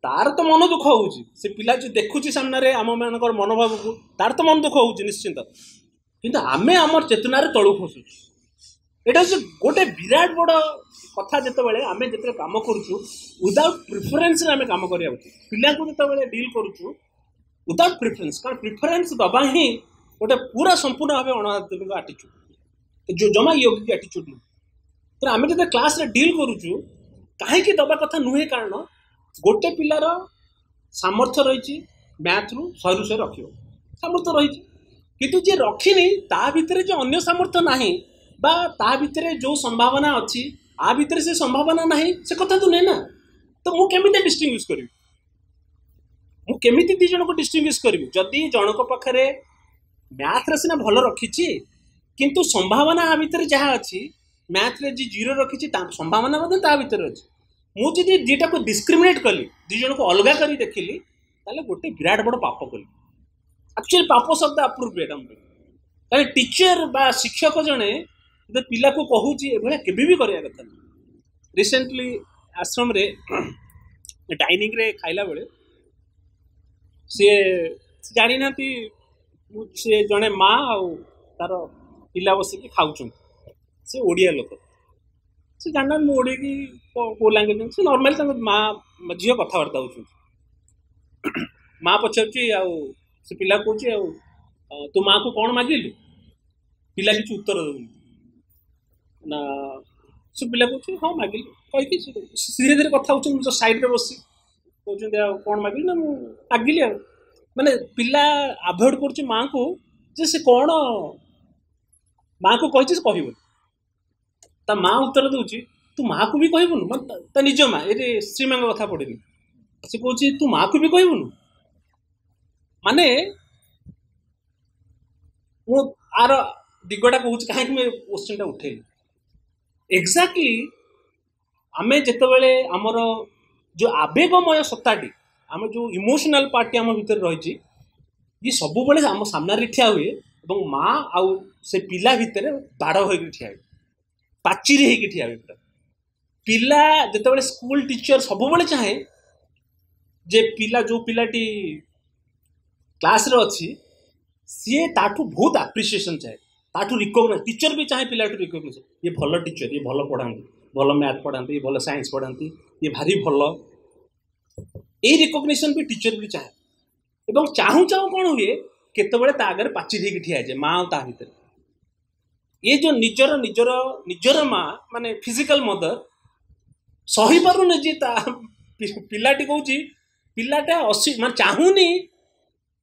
ତାର ତ ମନ ଦୁଃଖ ହେଉଛି, ସେ ପିଲା ଯେଉଁ ଦେଖୁଛି ସାମ୍ନାରେ ଆମମାନଙ୍କର ମନୋଭାବକୁ, ତାର ତ ମନ ଦୁଃଖ ହେଉଛି ନିଶ୍ଚିନ୍ତ, କିନ୍ତୁ ଆମେ ଆମର ଚେତନାରେ ତଳକୁ ଖସୁଛୁ। ଏଇଟା ହେଉଛି ଗୋଟେ ବିରାଟ ବଡ଼ କଥା। ଯେତେବେଳେ ଆମେ ଯେତେବେଳେ କାମ କରୁଛୁ ୱିଦାଉଟ୍ ପ୍ରିଫରେନ୍ସରେ ଆମେ କାମ କରିବା ଉଚିତ। ପିଲାଙ୍କୁ ଯେତେବେଳେ ଡିଲ୍ କରୁଛୁ ୱିଦାଉଟ୍ ପ୍ରିଫରେନ୍ସ, କାରଣ ପ୍ରିଫରେନ୍ସ ଦେବା ହିଁ ଗୋଟେ ପୁରା ସମ୍ପୂର୍ଣ୍ଣ ଭାବେ ଅଣଆଧ୍ୟାତ୍ମିକ ଆଟିଚ୍ୟୁଡ଼, ଯେଉଁ ଜମା ୟୋଗିକ ଆଟିଚ୍ୟୁଡ଼ ନୁହେଁ। ତେଣୁ ଆମେ ଯେତେବେଳେ କ୍ଲାସ୍ରେ ଡିଲ୍ କରୁଛୁ କାହିଁକି ଦେବା କଥା ନୁହେଁ, କାରଣ ଗୋଟେ ପିଲାର ସାମର୍ଥ୍ୟ ରହିଛି ମ୍ୟାଥରୁ ଶହେରୁ ଶହେ ରଖିବ, ସାମର୍ଥ୍ୟ ରହିଛି, କିନ୍ତୁ ଯିଏ ରଖିନି ତା ଭିତରେ ଯେ ଅନ୍ୟ ସାମର୍ଥ୍ୟ ନାହିଁ ବା ତା ଭିତରେ ଯେଉଁ ସମ୍ଭାବନା ଅଛି ଆ ଭିତରେ ସେ ସମ୍ଭାବନା ନାହିଁ, ସେ କଥା ତ ନୁହେଁ ନା। ତ ମୁଁ କେମିତି ଡିଷ୍ଟିଂଗୁଇସ୍ କରିବି, ମୁଁ କେମିତି ଦୁଇ ଜଣଙ୍କୁ ଡିଷ୍ଟିଂଗୁଇସ୍ କରିବି? ଯଦି ଜଣଙ୍କ ପାଖରେ ମ୍ୟାଥରେ ସିନା ଭଲ ରଖିଛି, କିନ୍ତୁ ସମ୍ଭାବନା ଆ ଭିତରେ ଯାହା ଅଛି, ମ୍ୟାଥରେ ଯିଏ ଜିରୋ ରଖିଛି ତା ସମ୍ଭାବନା ମଧ୍ୟ ତା ଭିତରେ ଅଛି। ମୁଁ ଯଦି ଦୁଇଟାକୁ ଡିସ୍କ୍ରିମିନେଟ୍ କଲି, ଦୁଇ ଜଣକୁ ଅଲଗା କରି ଦେଖିଲି, ତାହେଲେ ଗୋଟେ ବିରାଟ ବଡ଼ ପାପ କଲି। ଆକ୍ଚୁଆଲି ପାପ ଶବ୍ଦ ଆପ୍ରୋପ୍ରିଏଟ୍ ଆମ ପାଇଁ, କାରଣ ଟିଚର ବା ଶିକ୍ଷକ ଜଣେ ଯଦି ପିଲାକୁ କହୁଛି ଏଭଳିଆ କେବେ ବି କରିବା କଥା ନୁହେଁ। ରିସେଣ୍ଟଲି ଆଶ୍ରମରେ ଡାଇନିଂରେ ଖାଇଲା ବେଳେ ସିଏ ଜାଣିନାହାନ୍ତି, ସିଏ ଜଣେ ମା ଆଉ ତାର ପିଲା ବସିକି ଖାଉଛନ୍ତି। ସେ ଓଡ଼ିଆ ଲୋକ, ସେ ଜାଣିନାହାନ୍ତି ମୁଁ ଓଡ଼ିଆ କି କେଉଁ ଲାଙ୍ଗୁଏଜ। ସେ ନର୍ମାଲି ତାଙ୍କ ମା ଝିଅ କଥାବାର୍ତ୍ତା ହେଉଛନ୍ତି। ମା ପଚାରୁଛି ଆଉ ସେ ପିଲା କହୁଛି ଆଉ ତୁ ମାଆକୁ କ'ଣ ମାଗିଲୁ? ପିଲା କିଛି ଉତ୍ତର ଦେଉନି ନା। ସେ ପିଲା କହୁଛି ହଁ ମାଗିଲି କହିକି ସେ ଧୀରେ ଧୀରେ କଥା ହେଉଛନ୍ତି। ମୁଁ ସାଇଡ଼୍ରେ ବସି କହୁଛନ୍ତି ଆଉ କ'ଣ ମାଗିଲି? ନା ମୁଁ ମାଗିଲି ଆଉ, ମାନେ ପିଲା ଆଭଏଡ଼ କରୁଛି ମାଆକୁ, ଯେ ସେ କ'ଣ ମାଆକୁ କହିଛି ସେ କହିବନି। ତା ମା ଉତ୍ତର ଦେଉଛି ତୁ ମାଆକୁ ବି କହିବୁନୁ? ମାନେ ତା ନିଜ ମା, ଏଠି ଶ୍ରୀମାଙ୍କ କଥା ପଡ଼ିନି, ସେ କହୁଛି ତୁ ମାଆକୁ ବି କହିବୁନୁ? ମାନେ ମୁଁ ଆର ଦିଗଟା କହୁଛି କାହିଁକି ମୁଁ ଏ କୋଶ୍ଚିନ୍ଟା ଉଠେଇଲି। ଏକ୍ଜାକ୍ଟଲି ଆମେ ଯେତେବେଳେ ଆମର ଯେଉଁ ଆବେଗମୟ ସତ୍ତାଟି, ଆମ ଯେଉଁ ଇମୋସନାଲ ପାର୍ଟଟି ଆମ ଭିତରେ ରହିଛି, ଇଏ ସବୁବେଳେ ଆମ ସାମ୍ନାରେ ଠିଆ ହୁଏ ଏବଂ ମା ଆଉ ସେ ପିଲା ଭିତରେ ବାଡ଼ ହୋଇକି ଠିଆ ହୁଏ, ପାଚିରି ହେଇକି ଠିଆ ହୁଏ ପୁରା। ପିଲା ଯେତେବେଳେ ସ୍କୁଲ ଟିଚର ସବୁବେଳେ ଚାହେଁ ଯେ ପିଲା ଯେଉଁ ପିଲାଟି କ୍ଲାସ୍ରେ ଅଛି ସିଏ ତାଠୁ ବହୁତ ଆପ୍ରିସିଏସନ୍ ଚାହେଁ, ତାଠୁ ରିକଗ୍ନାଇଜ୍। ଟିଚର ବି ଚାହେଁ ପିଲାଠୁ ରିକଗ୍ନାଇଜ୍, ଇଏ ଭଲ ଟିଚର, ଇଏ ଭଲ ପଢ଼ାନ୍ତି, ଭଲ ମ୍ୟାଥ୍ ପଢ଼ାନ୍ତି, ଇଏ ଭଲ ସାଇନ୍ସ ପଢ଼ାନ୍ତି, ଇଏ ଭାରି ଭଲ। ଏଇ ରିକଗ୍ନିସନ୍ ବି ଟିଚର ବି ଚାହେଁ। ଏବଂ ଚାହୁଁ ଚାହୁଁ କ'ଣ ହୁଏ, କେତେବେଳେ ତା ଆଗରେ ପାଚିରି ହେଇକି ଠିଆ ହେଇଯାଏ ମା ଆଉ ତା ଭିତରେ। ଇଏ ଯେଉଁ ନିଜର ନିଜର ନିଜର ମା ମାନେ ଫିଜିକାଲ ମଦର ସହିପାରୁନି ଯେ ତା ପିଲାଟି କହୁଛି, ପିଲାଟା ଅସି ମାନେ ଚାହୁଁନି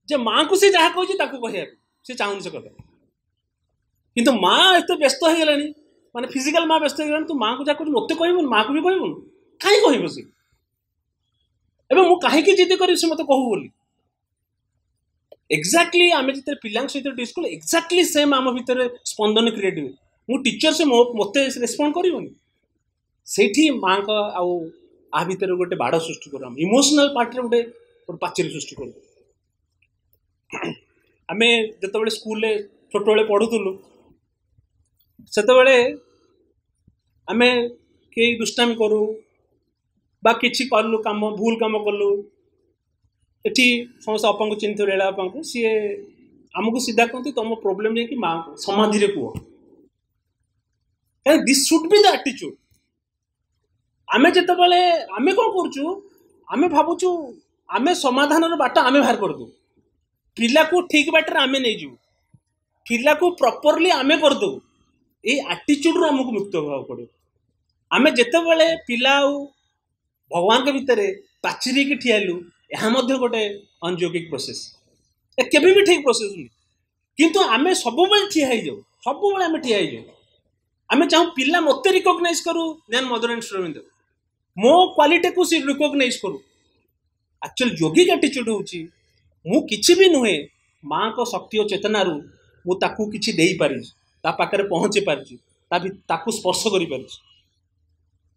ଯେ ମାଆକୁ ସେ ଯାହା କହୁଛି ତାକୁ କହିବାକୁ, ସେ ଚାହୁଁନି ସେ କଥା। କିନ୍ତୁ ମା ଏତେ ବ୍ୟସ୍ତ ହେଇଗଲାଣି, ମାନେ ଫିଜିକାଲ ମା ବ୍ୟସ୍ତ ହେଇଗଲାଣି, ତୁ ମାଆକୁ ଯାହା କହୁଛୁ ମୋତେ କହିବୁନି, ମାଆକୁ ବି କହିବୁନି, କାହିଁ କହିବ ସେ? ଏବେ ମୁଁ କାହିଁକି ଜିଦି କରିବି ସେ ମୋତେ କହୁ ବୋଲି? ଏକ୍ଜାକ୍ଟଲି ଆମେ ଯେତେବେଳେ ପିଲାଙ୍କ ସହିତ ଡିସ୍ କଲୁ, ଏକ୍ଜାକ୍ଟଲି ସେମ୍ ଆମ ଭିତରେ ସ୍ପନ୍ଦନ କ୍ରିଏଟ୍ ହୁଏ। ମୁଁ ଟିଚର, ସେ ମୋତେ ରେସ୍ପଣ୍ଡ କରିବନି। ସେଇଠି ମାଆଙ୍କ ଆଉ ଆ ଭିତରେ ଗୋଟେ ବାଡ଼ ସୃଷ୍ଟି କରୁ, ଆମେ ଇମୋସନାଲ ପାର୍ଟରେ ଗୋଟେ ଗୋଟେ ପାଚେରୀ ସୃଷ୍ଟି କରୁ। ଆମେ ଯେତେବେଳେ ସ୍କୁଲରେ ଛୋଟବେଳେ ପଢ଼ୁଥିଲୁ, ସେତେବେଳେ ଆମେ କେହି ଦୁଷ୍ଟାମି କରୁ ବା କିଛି କଲୁ କାମ, ଭୁଲ କାମ କଲୁ, ଏଠି ସମସ୍ତେ ଅପାଙ୍କୁ ଚିହ୍ନିଥିବେ, ଲୀଳା ଅପାଙ୍କୁ, ସିଏ ଆମକୁ ସିଧା କୁହନ୍ତି ତମ ପ୍ରୋବ୍ଲେମ୍ ଯାଇକି ମାଆଙ୍କୁ ସମାଧିରେ କୁହ। କାରଣ this should be the attitude. ଆମେ ଯେତେବେଳେ ଆମେ କ'ଣ କରୁଛୁ, ଆମେ ଭାବୁଛୁ ଆମେ ସମାଧାନର ବାଟ ଆମେ ବାହାର କରିଦେବୁ, ପିଲାକୁ ଠିକ୍ ବାଟରେ ଆମେ ନେଇଯିବୁ, ପିଲାକୁ ପ୍ରପରଲି ଆମେ କରିଦେବୁ। ଏଇ ଆଟିଚ୍ୟୁଡ଼ରୁ ଆମକୁ ମୁକ୍ତ ହେବାକୁ ପଡ଼ିବ। ଆମେ ଯେତେବେଳେ ପିଲା ଆଉ ଭଗବାନଙ୍କ ଭିତରେ ପାଚିରିକି ଠିଆ ହେଲୁ, ଏହା ମଧ୍ୟ ଗୋଟେ ଅନଯୌଗିକ ପ୍ରୋସେସ୍, ଏ କେବେ ବି ଠିକ୍ ପ୍ରୋସେସ୍ ନୁହେଁ। କିନ୍ତୁ ଆମେ ସବୁବେଳେ ଠିଆ ହେଇଯାଉ, ସବୁବେଳେ ଆମେ ଠିଆ ହେଇଯାଉ। ଆମେ ଚାହୁଁ ପିଲା ମୋତେ ରିକଗ୍ନାଇଜ୍ କରୁ ଦେନ୍ ମଦର ଆଣ୍ଡ ଶ୍ରୀ ଅରବିନ୍ଦ, ମୋ କ୍ୱାଲିଟିକୁ ସେ ରିକଗ୍ନାଇଜ୍ କରୁ। ଆକ୍ଚୁଆଲି ଯୋଗିକ ଆଟିଚ୍ୟୁଡ଼ ହେଉଛି ମୁଁ କିଛି ବି ନୁହେଁ, ମାଆଙ୍କ ଶକ୍ତି ଓ ଚେତନାରୁ ମୁଁ ତାକୁ କିଛି ଦେଇପାରିଛି ତା ପାଖରେ ପହଞ୍ଚି ପାରିଛି ତା ତାକୁ ସ୍ପର୍ଶ କରିପାରିଛି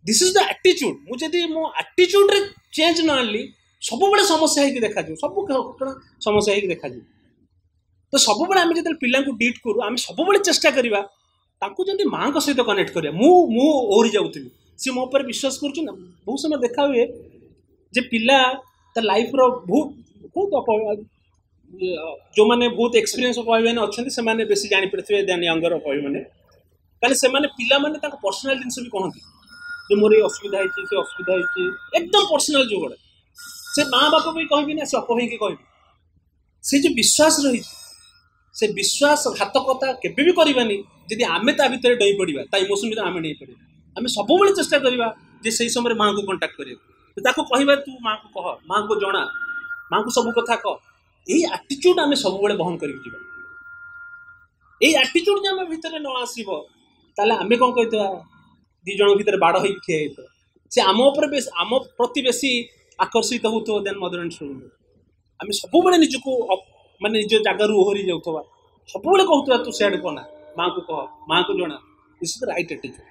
This is the attitude ମୁଁ ଯଦି ମୋ ଆଟିଚ୍ୟୁଡ଼୍ରେ ଚେଞ୍ଜ ନ ଆଣିଲି ସବୁବେଳେ ସମସ୍ୟା ହେଇକି ଦେଖାଯିବ ସବୁ ଘଟଣା ସମସ୍ୟା ହେଇକି ଦେଖାଯିବ ତ ସବୁବେଳେ ଆମେ ଯେତେବେଳେ ପିଲାଙ୍କୁ ଡିଟ୍ କରୁ ଆମେ ସବୁବେଳେ ଚେଷ୍ଟା କରିବା ତାଙ୍କୁ ଯେମିତି ମାଆଙ୍କ ସହିତ କନେକ୍ଟ କରିବା ମୁଁ ମୁଁ ଓହରି ଯାଉଥିବି ସିଏ ମୋ ଉପରେ ବିଶ୍ୱାସ କରୁଛି ନା ବହୁତ ସମୟ ଦେଖା ହୁଏ ଯେ ପିଲା ତା ଲାଇଫ୍ର ବହୁତ ବହୁତ ଯେଉଁମାନେ ବହୁତ ଏକ୍ସପିରିଏନ୍ସ ଅପାଭାଇମାନେ ଅଛନ୍ତି ସେମାନେ ବେଶୀ ଜାଣିପାରିଥିବେ ଦେନ୍ ୟଙ୍ଗର ଅପାଭାଇମାନେ କାରଣ ସେମାନେ ପିଲାମାନେ ତାଙ୍କ ପର୍ସନାଲ ଜିନିଷ ବି କହନ୍ତି ଯେ ମୋର ଏଇ ଅସୁବିଧା ହେଇଛି ସେ ଅସୁବିଧା ହେଇଛି ଏକଦମ ପର୍ସନାଲ ଯୋଉଗୁଡ଼ା ସେ ମା ବାପା ବି କହିବି ନା ସେ ଅପା ଭାଇକି କହିବି ସେ ଯେଉଁ ବିଶ୍ୱାସ ରହିଛି ସେ ବିଶ୍ୱାସଘାତକତା କେବେ ବି କରିବାନି ଯଦି ଆମେ ତା ଭିତରେ ଡେଇଁ ପଡ଼ିବା ତା ଇମୋସନ୍ ଭିତରେ ଆମେ ଡେଇଁ ପଡ଼ିବା ଆମେ ସବୁବେଳେ ଚେଷ୍ଟା କରିବା ଯେ ସେଇ ସମୟରେ ମାଆଙ୍କୁ କଣ୍ଟାକ୍ଟ କରିବାକୁ ତାକୁ କହିବା ତୁ ମାଆକୁ କହ ମାଆଙ୍କୁ ଜଣା ମାଆଙ୍କୁ ସବୁ କଥା କହ ଏଇ ଆଟିଚ୍ୟୁଡ୍ ଆମେ ସବୁବେଳେ ବହନ କରିକି ଯିବା ଏଇ ଆଟିଚ୍ୟୁଡ୍ ଯଦି ଆମ ଭିତରେ ନ ଆସିବ ତାହେଲେ ଆମେ କ'ଣ କହିଥିବା ଦୁଇ ଜଣଙ୍କ ଭିତରେ ବାଡ଼ ହେଇକି ଠିଆ ହେଇଥିବା ସେ ଆମ ଉପରେ ବେଶୀ ଆମ ପ୍ରତି ବେଶୀ ଆକର୍ଷିତ ହେଉଥିବ ଦେନ୍ ମଦର ଆଣ୍ଡ ଶ୍ରୀଅରବିନ୍ଦ ଆମେ ସବୁବେଳେ ନିଜକୁ ମାନେ ନିଜ ଜାଗାରୁ ଓହରି ଯାଉଥିବା ସବୁବେଳେ କହୁଥିବା ତୁ ସିଆଡ଼େ କହନା ମାଆଙ୍କୁ କହ ମାଆଙ୍କୁ ଜଣା This is the right attitude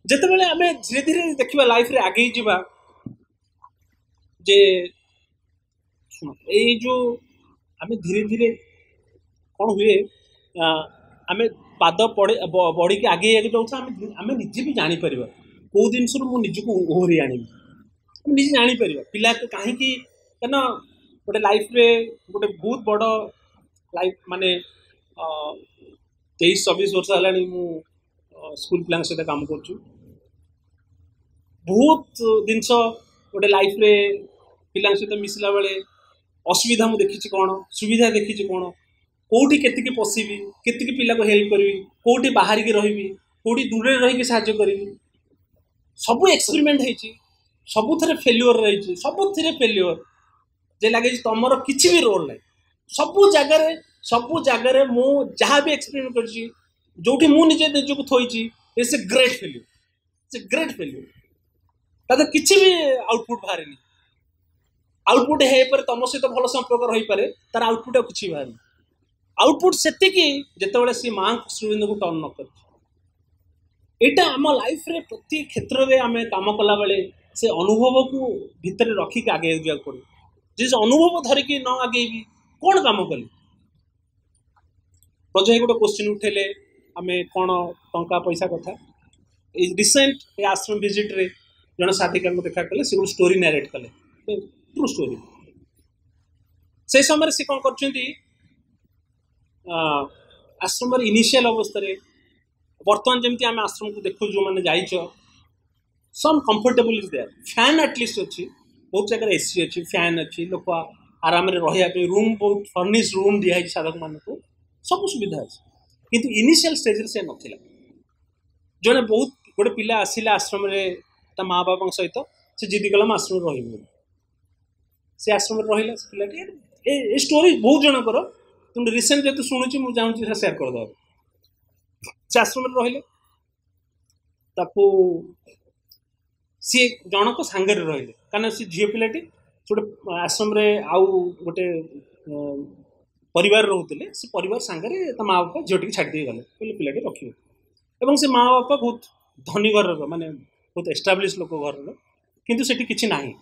ଯେତେବେଳେ ଆମେ ଧୀରେ ଧୀରେ ଦେଖିବା ଲାଇଫରେ ଆଗେଇ ଯିବା ଯେ ଶୁଣ ଏଇ ଯେଉଁ ଆମେ ଧୀରେ ଧୀରେ କ'ଣ ହୁଏ ଆମେ ପାଦ ପଡ଼େ ବଢ଼ିକି ଆଗେଇ ଆଗେଇ ଯାଉଥିବା ଆମେ ଆମେ ନିଜେ ବି ଜାଣିପାରିବା କେଉଁ ଜିନିଷରୁ ମୁଁ ନିଜକୁ ଓହରି ଆଣିବି ଆମେ ନିଜେ ଜାଣିପାରିବା ପିଲା କାହିଁକି କାରଣ ଗୋଟେ ଲାଇଫରେ ଗୋଟେ ବହୁତ ବଡ଼ ଲାଇଫ ମାନେ ତେଇଶ ଚବିଶ ବର୍ଷ ହେଲାଣି ମୁଁ ସ୍କୁଲ ପିଲାଙ୍କ ସହିତ କାମ କରୁଛୁ ବହୁତ ଜିନିଷ ଗୋଟେ ଲାଇଫରେ ପିଲାଙ୍କ ସହିତ ମିଶିଲା ବେଳେ ଅସୁବିଧା ମୁଁ ଦେଖିଛି କ'ଣ ସୁବିଧା ଦେଖିଛି କ'ଣ କେଉଁଠି କେତିକି ପଶିବି କେତିକି ପିଲାକୁ ହେଲ୍ପ କରିବି କେଉଁଠି ବାହାରିକି ରହିବି କେଉଁଠି ଦୂରରେ ରହିକି ସାହାଯ୍ୟ କରିବି ସବୁ ଏକ୍ସପେରିମେଣ୍ଟ ହେଇଛି ସବୁଥିରେ ଫେଲ୍ୟୁଅର୍ ରହିଛି ସବୁଥିରେ ଫେଲ୍ୟୁଅର୍ ଯେ ଲାଗେ ଯେ ତମର କିଛି ବି ରୋଲ୍ ନାହିଁ ସବୁ ଜାଗାରେ ସବୁ ଜାଗାରେ ମୁଁ ଯାହା ବି ଏକ୍ସପେରିମେଣ୍ଟ କରିଛି ଯୋଉଠି ମୁଁ ନିଜେ ନିଜକୁ ଥୋଇଛି It's a great failure it's a great failure ତା ଦେହରେ କିଛି ବି ଆଉଟପୁଟ୍ ବାହାରେନି ଆଉଟପୁଟ୍ ହେଇପାରେ ତମ ସହିତ ଭଲ ସମ୍ପର୍କ ରହିପାରେ ତାର ଆଉଟପୁଟ୍ ଆଉ କିଛି ବାହାରେନି ଆଉଟପୁଟ୍ ସେତିକି ଯେତେବେଳେ ସେ ମାଆଙ୍କୁ ଶ୍ରୀଅରବିନ୍ଦକୁ ଟର୍ନ ନ କରିଛି ଏଇଟା ଆମ ଲାଇଫରେ ପ୍ରତି କ୍ଷେତ୍ରରେ ଆମେ କାମ କଲାବେଳେ ସେ ଅନୁଭବକୁ ଭିତରେ ରଖିକି ଆଗେଇ ଯିବାକୁ ପଡ଼ିବ ଯେ ସେ ଅନୁଭବ ଧରିକି ନ ଆଗେଇବି କ'ଣ କାମ କଲି ବ୍ରଜ ଭାଇ ଗୋଟେ କୋଶ୍ଚିନ୍ ଉଠେଇଲେ ଆମେ କ'ଣ ଟଙ୍କା ପଇସା କଥା ଏଇ ରିସେଣ୍ଟ ଏ ଆଶ୍ରମ ଭିଜିଟ୍ରେ ଜଣେ ସାଧିକାଙ୍କୁ ଦେଖା କଲେ ସେ ଗୋଟେ ଷ୍ଟୋରି ନାରେଟ୍ କଲେ ଟ୍ରୁ ଷ୍ଟୋରି ସେଇ ସମୟରେ ସେ କ'ଣ କରୁଛନ୍ତି ଆଶ୍ରମର ଇନିସିଆଲ ଅବସ୍ଥାରେ ବର୍ତ୍ତମାନ ଯେମିତି ଆମେ ଆଶ୍ରମକୁ ଦେଖୁ ଯେଉଁମାନେ ଯାଇଛ some comfortable is there fan at least ଅଛି ବହୁତ ଜାଗାରେ ଏସି ଅଛି ଫ୍ୟାନ୍ ଅଛି ଲୋକ ଆରାମରେ ରହିବା ପାଇଁ ରୁମ୍ ବହୁତ ଫର୍ନିଶ ରୁମ୍ ଦିଆହେଇଛି ସାଧକମାନଙ୍କୁ ସବୁ ସୁବିଧା ଅଛି କିନ୍ତୁ ଇନିସିଆଲ ଷ୍ଟେଜରେ ସେ ନଥିଲା ଜଣେ ବହୁତ ଗୋଟେ ପିଲା ଆସିଲା ଆଶ୍ରମରେ ତା ମା ବାପାଙ୍କ ସହିତ ସେ ଜିଦି କଲା ମୁଁ ଆଶ୍ରମରେ ରହିବି ବୋଲି ସେ ଆଶ୍ରମରେ ରହିଲା ସେ ପିଲାଟି ଏ ଏ ଷ୍ଟୋରି ବହୁତ ଜଣଙ୍କର କିନ୍ତୁ ରିସେଣ୍ଟ ଯେହେତୁ ଶୁଣୁଛି ମୁଁ ଚାହୁଁଛି ସେଟା ସେୟାର କରିଦେବା ସେ ଆଶ୍ରମରେ ରହିଲେ ତାକୁ ସିଏ ଜଣଙ୍କ ସାଙ୍ଗରେ ରହିଲେ କାରଣ ସେ ଝିଅ ପିଲାଟି ସେ ଗୋଟେ ଆଶ୍ରମରେ ଆଉ ଗୋଟେ ପରିବାର ରହୁଥିଲେ ସେ ପରିବାର ସାଙ୍ଗରେ ତା ମା ବାପା ଝିଅଟିକି ଛାଡ଼ି ଦେଇ ଗଲେ କହିଲେ ପିଲାଟି ରଖିବ ଏବଂ ସେ ମା ବାପା ବହୁତ ଧନୀ ଘରର ମାନେ ବହୁତ ଏଷ୍ଟାବ୍ଲିଶ ଲୋକ ଘରର କିନ୍ତୁ ସେଠି କିଛି ନାହିଁ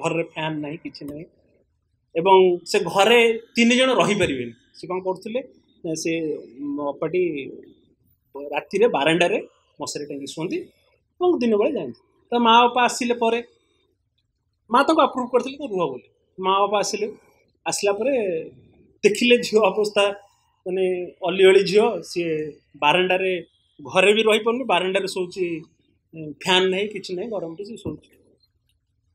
ଘରରେ ଫ୍ୟାନ୍ ନାହିଁ କିଛି ନାହିଁ ଏବଂ ସେ ଘରେ ତିନି ଜଣ ରହିପାରିବେନି ସେ କ'ଣ କରୁଥିଲେ ସେ ଅପାଟି ରାତିରେ ବାରଣ୍ଡାରେ ମଶାରୀ ଟାଙ୍ଗି ଶୁଅନ୍ତି ଏବଂ ଦିନବେଳେ ଯାଆନ୍ତି ତା ମା ବାପା ଆସିଲେ ପରେ ମା ତାଙ୍କୁ ଆପ୍ରୁଭ୍ କରିଥିଲେ ତ ରୁହ ବୋଲି ମା ବାପା ଆସିଲେ ଆସିଲା ପରେ ଦେଖିଲେ ଝିଅ ଅବସ୍ଥା ମାନେ ଅଲିଅଳି ଝିଅ ସିଏ ବାରଣ୍ଡାରେ ଘରେ ବି ରହିପାରୁନି ବାରଣ୍ଡାରେ ଶୋଉଛି ଫ୍ୟାନ୍ ନାହିଁ କିଛି ନାହିଁ ଗରମରେ ସେ ଶୋଉଛି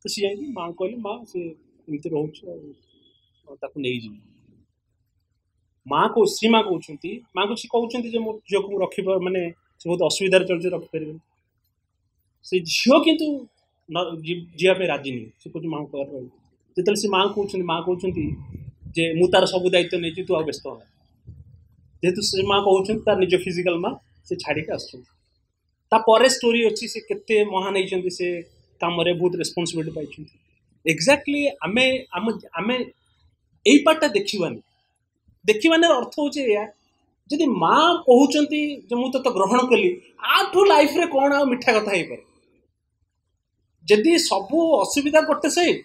ତ ସିଏ ଯାଇକି ମାଆଙ୍କୁ କହିଲେ ମା ସେ ଏମିତି ରହୁଛି ଆଉ ତାକୁ ନେଇଯିବି ମା କହୁ ଶ୍ରୀ ମା କହୁଛନ୍ତି ମାଆକୁ ସେ କହୁଛନ୍ତି ଯେ ମୋ ଝିଅକୁ ମୁଁ ରଖିବ ମାନେ ସେ ବହୁତ ଅସୁବିଧାରେ ଚଳୁଛି ରଖିପାରିବେନି ସେ ଝିଅ କିନ୍ତୁ ଯିବା ପାଇଁ ରାଜି ନୁହେଁ ସେ କହୁଛି ମାଆଙ୍କ ପାଖରେ ରହିବ ଯେତେବେଳେ ସେ ମାଆଙ୍କୁ କହୁଛନ୍ତି ମା କହୁଛନ୍ତି ଯେ ମୁଁ ତାର ସବୁ ଦାୟିତ୍ୱ ନେଇଛି ତୁ ଆଉ ବ୍ୟସ୍ତ ହନା ଯେହେତୁ ସେ ମା କହୁଛନ୍ତି ତାର ନିଜ ଫିଜିକାଲ ମା ସେ ଛାଡ଼ିକି ଆସୁଛନ୍ତି ତାପରେ ଷ୍ଟୋରି ଅଛି ସେ କେତେ ମହାନ ହେଇଛନ୍ତି ସେ କାମରେ ବହୁତ ରେସ୍ପନ୍ସିବିଲିଟି ପାଇଛନ୍ତି ଏକ୍ଜାକ୍ଟଲି ଆମେ ଆମ ଆମେ ଏଇ ପାର୍ଟଟା ଦେଖିବାନି ଦେଖିବାନି ଅର୍ଥ ହେଉଛି ଏଇଆ, ଯଦି ମା କହୁଛନ୍ତି ଯେ ମୁଁ ତୋତେ ଗ୍ରହଣ କଲି, ଆଠୁ ଲାଇଫରେ କ'ଣ ଆଉ ମିଠା କଥା ହେଇପାରେ? ଯଦି ସବୁ ଅସୁବିଧା ଗୋଟେ ସାଇଡ୍,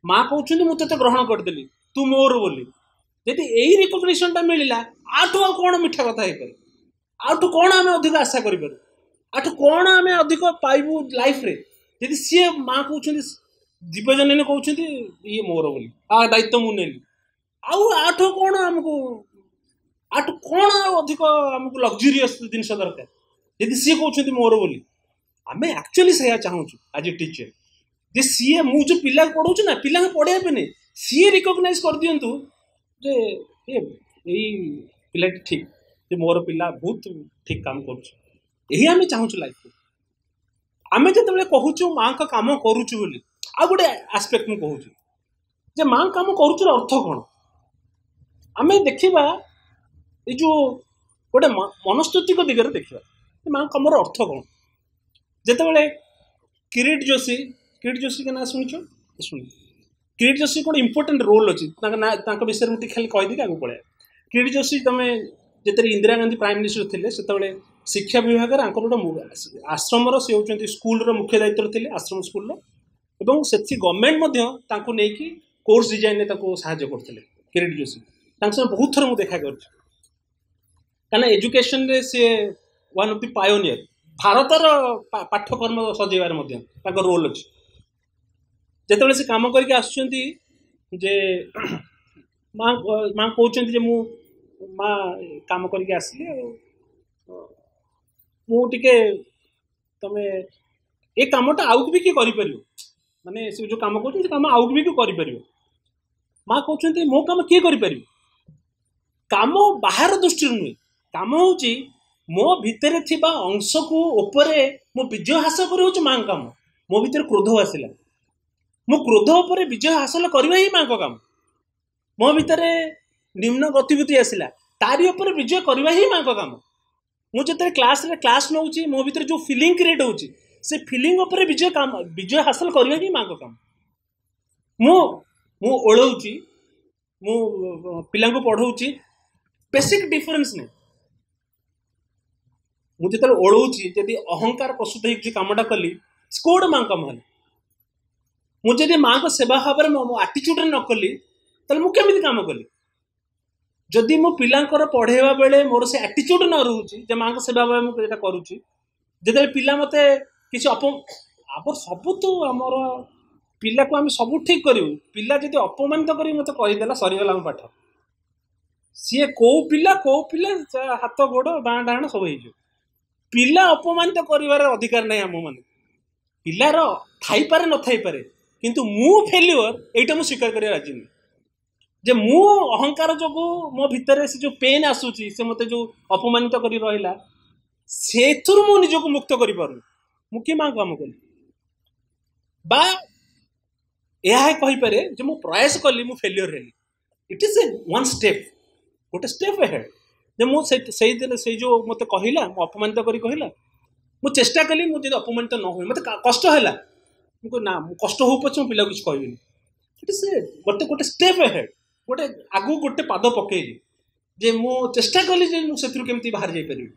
ମା କହୁଛନ୍ତି ମୁଁ ତୋତେ ଗ୍ରହଣ କରିଦେଲି, ତୁ ମୋର ବୋଲି, ଯଦି ଏଇ ରିକଗ୍ନିସନଟା ମିଳିଲା, ଆଠୁ ଆଉ କ'ଣ ମିଠା କଥା ହେଇପାରେ? ଆଠୁ କ'ଣ ଆମେ ଅଧିକ ଆଶା କରିପାରୁ? ଆଠୁ କ'ଣ ଆମେ ଅଧିକ ପାଇବୁ ଲାଇଫରେ? ଯଦି ସିଏ ମା କହୁଛନ୍ତି, ଦିବ୍ୟଜନନୀ କହୁଛନ୍ତି ଇଏ ମୋର ବୋଲି, ଆ ଦାୟିତ୍ୱ ମୁଁ ନେଲି, ଆଉ ଆଠୁ କ'ଣ ଆମକୁ, ଆଠୁ କ'ଣ ଆଉ ଅଧିକ ଆମକୁ ଲକ୍ଜୁରିୟସ୍ ଜିନିଷ ଦରକାର? ଯଦି ସିଏ କହୁଛନ୍ତି ମୋର ବୋଲି, ଆମେ ଆକ୍ଚୁଆଲି ସେଇଆ ଚାହୁଁଛୁ ଆଜ୍ ଏ ଟିଚର, ଯେ ସିଏ ମୁଁ ଯେଉଁ ପିଲାକୁ ପଢ଼ଉଛି ନା, ପିଲାଙ୍କୁ ପଢ଼େଇବା ପାଇଁ ସିଏ ରିକଗ୍ନାଇଜ୍ କରିଦିଅନ୍ତୁ ଯେ ଏ ଏଇ ପିଲାଟି ଠିକ୍, ଯେ ମୋର ପିଲା ବହୁତ ଠିକ୍ କାମ କରୁଛି। ଏହି ଆମେ ଚାହୁଁଛୁ ଲାଇଫରେ। ଆମେ ଯେତେବେଳେ କହୁଛୁ ମାଙ୍କ କାମ କରୁଛୁ ବୋଲି, ଆଉ ଗୋଟେ ଆସ୍ପେକ୍ଟ ମୁଁ କହୁଛି ଯେ ମାଙ୍କ କାମ କରୁଛୁର ଅର୍ଥ କ'ଣ? ଆମେ ଦେଖିବା ଏଇ ଯେଉଁ ଗୋଟେ ମନସ୍ତାତ୍ତ୍ୱିକ ଦିଗରେ ଦେଖିବା ମାଙ୍କ କାମର ଅର୍ଥ କ'ଣ। ଯେତେବେଳେ କିରିଟ ଯୋଶୀ, କିରିଟ ଯୋଶୀଙ୍କ ନାଁ ଶୁଣିଛ? ଶୁଣି କିରିଟ ଯୋଶୀ କ'ଣ ଇମ୍ପୋର୍ଟାଣ୍ଟ ରୋଲ୍ ଅଛି ତାଙ୍କ ନାଁ, ତାଙ୍କ ବିଷୟରେ ମୁଁ ଟିକେ ଖାଲି କହିଦେଇକି ଆଗକୁ ପଳେଇବା। କିରିଟ ଯୋଶୀ ତମେ ଯେତେବେଳେ ଇନ୍ଦିରା ଗାନ୍ଧୀ ପ୍ରାଇମ୍ ମିନିଷ୍ଟର ଥିଲେ, ସେତେବେଳେ ଶିକ୍ଷା ବିଭାଗରେ ଆଙ୍କର ଗୋଟେ ଆଶ୍ରମର, ସେ ହେଉଛନ୍ତି ସ୍କୁଲର ମୁଖ୍ୟ ଦାୟିତ୍ୱରେ ଥିଲେ, ଆଶ୍ରମ ସ୍କୁଲର, ଏବଂ ସେଠି ଗଭର୍ଣ୍ଣମେଣ୍ଟ ମଧ୍ୟ ତାଙ୍କୁ ନେଇକି କୋର୍ସ ଡିଜାଇନରେ ତାକୁ ସାହାଯ୍ୟ କରୁଥିଲେ। କିରିଟ ଯୋଶୀ ତାଙ୍କ ସହ ବହୁତ ଥର ମୁଁ ଦେଖା କରିଛି, କାରଣ ଏଜୁକେସନରେ ସିଏ ୱାନ୍ ଅଫ୍ the pioneer, ଭାରତର ପାଠ୍ୟକ୍ରମ ସଜେଇବାରେ ମଧ୍ୟ ତାଙ୍କ ରୋଲ୍ ଅଛି। ଯେତେବେଳେ ସେ କାମ କରିକି ଆସୁଛନ୍ତି ଯେ ମା ମା କହୁଛନ୍ତି ଯେ ମୁଁ ମା କାମ କରିକି ଆସିଲି, ଆଉ ମୁଁ ଟିକେ ତମେ ଏ କାମଟା ଆଉ ବି କିଏ କରିପାରିବ, ମାନେ ସେ ଯେଉଁ କାମ କରୁଛନ୍ତି ସେ କାମ ଆଉ ବି କିଏ କରିପାରିବ। ମା କହୁଛନ୍ତି ମୋ କାମ କିଏ କରିପାରିବ? କାମ ବାହାର ଦୃଷ୍ଟିରୁ ନୁହେଁ, କାମ ହେଉଛି ମୋ ଭିତରେ ଥିବା ଅଂଶକୁ ଉପରେ ମୁଁ ବିଜୟ ହାସଲ କରି ହେଉଛି ମାଙ୍କ କାମ। ମୋ ଭିତରେ କ୍ରୋଧ ଆସିଲା, ମୁଁ କ୍ରୋଧ ଉପରେ ବିଜୟ ହାସଲ କରିବା ହିଁ ମାଙ୍କ କାମ। ମୋ ଭିତରେ ନିମ୍ନ ଗତିବିଧି ଆସିଲା, ତାରି ଉପରେ ବିଜୟ କରିବା ହିଁ ମାଙ୍କ କାମ। ମୁଁ ଯେତେବେଳେ କ୍ଲାସ୍ରେ କ୍ଲାସ୍ ନେଉଛି, ମୋ ଭିତରେ ଯେଉଁ ଫିଲିଂ କ୍ରିଏଟ୍ ହେଉଛି, ସେ ଫିଲିଂ ଉପରେ ବିଜୟ କାମ, ବିଜୟ ହାସଲ କରିବା ହିଁ ମାଙ୍କ କାମ। ମୁଁ ମୁଁ ଓଳଉଛି, ମୁଁ ପିଲାଙ୍କୁ ପଢ଼ଉଛି, ବେସିକ୍ ଡିଫରେନ୍ସ ନାହିଁ। ମୁଁ ଯେତେବେଳେ ଓଳଉଛି, ଯଦି ଅହଙ୍କାର ପ୍ରସ୍ତୁତ ହେଇକି କାମଟା କଲି, କୋଉଟା ମାଙ୍କ କାମ ହେଲା? ମୁଁ ଯଦି ମାଙ୍କ ସେବା ଭାବରେ ମୋ ଆଟିଚ୍ୟୁଡ଼ରେ ନ କଲି, ତାହେଲେ ମୁଁ କେମିତି କାମ କଲି? ଯଦି ମୁଁ ପିଲାଙ୍କର ପଢ଼େଇବା ବେଳେ ମୋର ସେ ଆଟିଚ୍ୟୁଡ଼ ନ ରହୁଛି ଯେ ମାଙ୍କ ସେବା ଭାବେ ମୁଁ ଏଇଟା କରୁଛି, ଯେତେବେଳେ ପିଲା ମୋତେ କିଛି ଅପ ଆମର ସବୁ ତ ଆମର ପିଲାକୁ ଆମେ ସବୁ ଠିକ୍ କରିବୁ, ପିଲା ଯଦି ଅପମାନିତ କରିକି ମୋତେ କହିଦେଲା, ସରିଗଲା ଆମ ପାଠ। ସିଏ କୋଉ ପିଲା କୋଉ ପିଲା ହାତ ଗୋଡ଼ ବାଁ ଡାହାଣ ସବୁ ହେଇଯିବ। ପିଲା ଅପମାନିତ କରିବାର ଅଧିକାର ନାହିଁ ଆମମାନଙ୍କୁ। ପିଲାର ଥାଇପାରେ ନଥାଇପାରେ, କିନ୍ତୁ ମୁଁ ଫେଲିଓର ଏଇଟା ମୁଁ ସ୍ୱୀକାର କରିବା ରାଜି ନୁହେଁ। ଯେ ମୁଁ ଅହଙ୍କାର ଯୋଗୁଁ ମୋ ଭିତରେ ସେ ଯେଉଁ ପେନ୍ ଆସୁଛି, ସେ ମୋତେ ଯେଉଁ ଅପମାନିତ କରି ରହିଲା, ସେଥିରୁ ମୁଁ ନିଜକୁ ମୁକ୍ତ କରିପାରୁନି। ମୁଁ କି ମାଙ୍କ କାମ କଲି? ବା ଏହା କହିପାରେ ଯେ ମୁଁ ପ୍ରୟାସ କଲି, ମୁଁ ଫେଲିଓର ହେଲି। It is a one step, ଗୋଟେ ଷ୍ଟେପ୍ ଏହେଡ୍। ଯେ ମୁଁ ସେ ସେଇଦିନ ସେଇ ଯେଉଁ ମୋତେ କହିଲା, ମୁଁ ଅପମାନିତ କରି କହିଲା, ମୁଁ ଚେଷ୍ଟା କଲି ମୁଁ ଯଦି ଅପମାନିତ ନ ହୁଏ, ମୋତେ କଷ୍ଟ ହେଲା, ମୁଁ କହିଲି ନା, ମୁଁ କଷ୍ଟ ହଉ ପଛେ ମୁଁ ପିଲାକୁ କିଛି କହିବିନି। ଇଟ୍ is ଏ ଗୋଟେ ଗୋଟେ ଷ୍ଟେପ୍ ଏହେଡ୍, ଗୋଟେ ଆଗକୁ ଗୋଟେ ପାଦ ପକେଇଲି ଯେ ମୁଁ ଚେଷ୍ଟା କଲି ଯେ ମୁଁ ସେଥିରୁ କେମିତି ବାହାରି ଯାଇପାରିବି।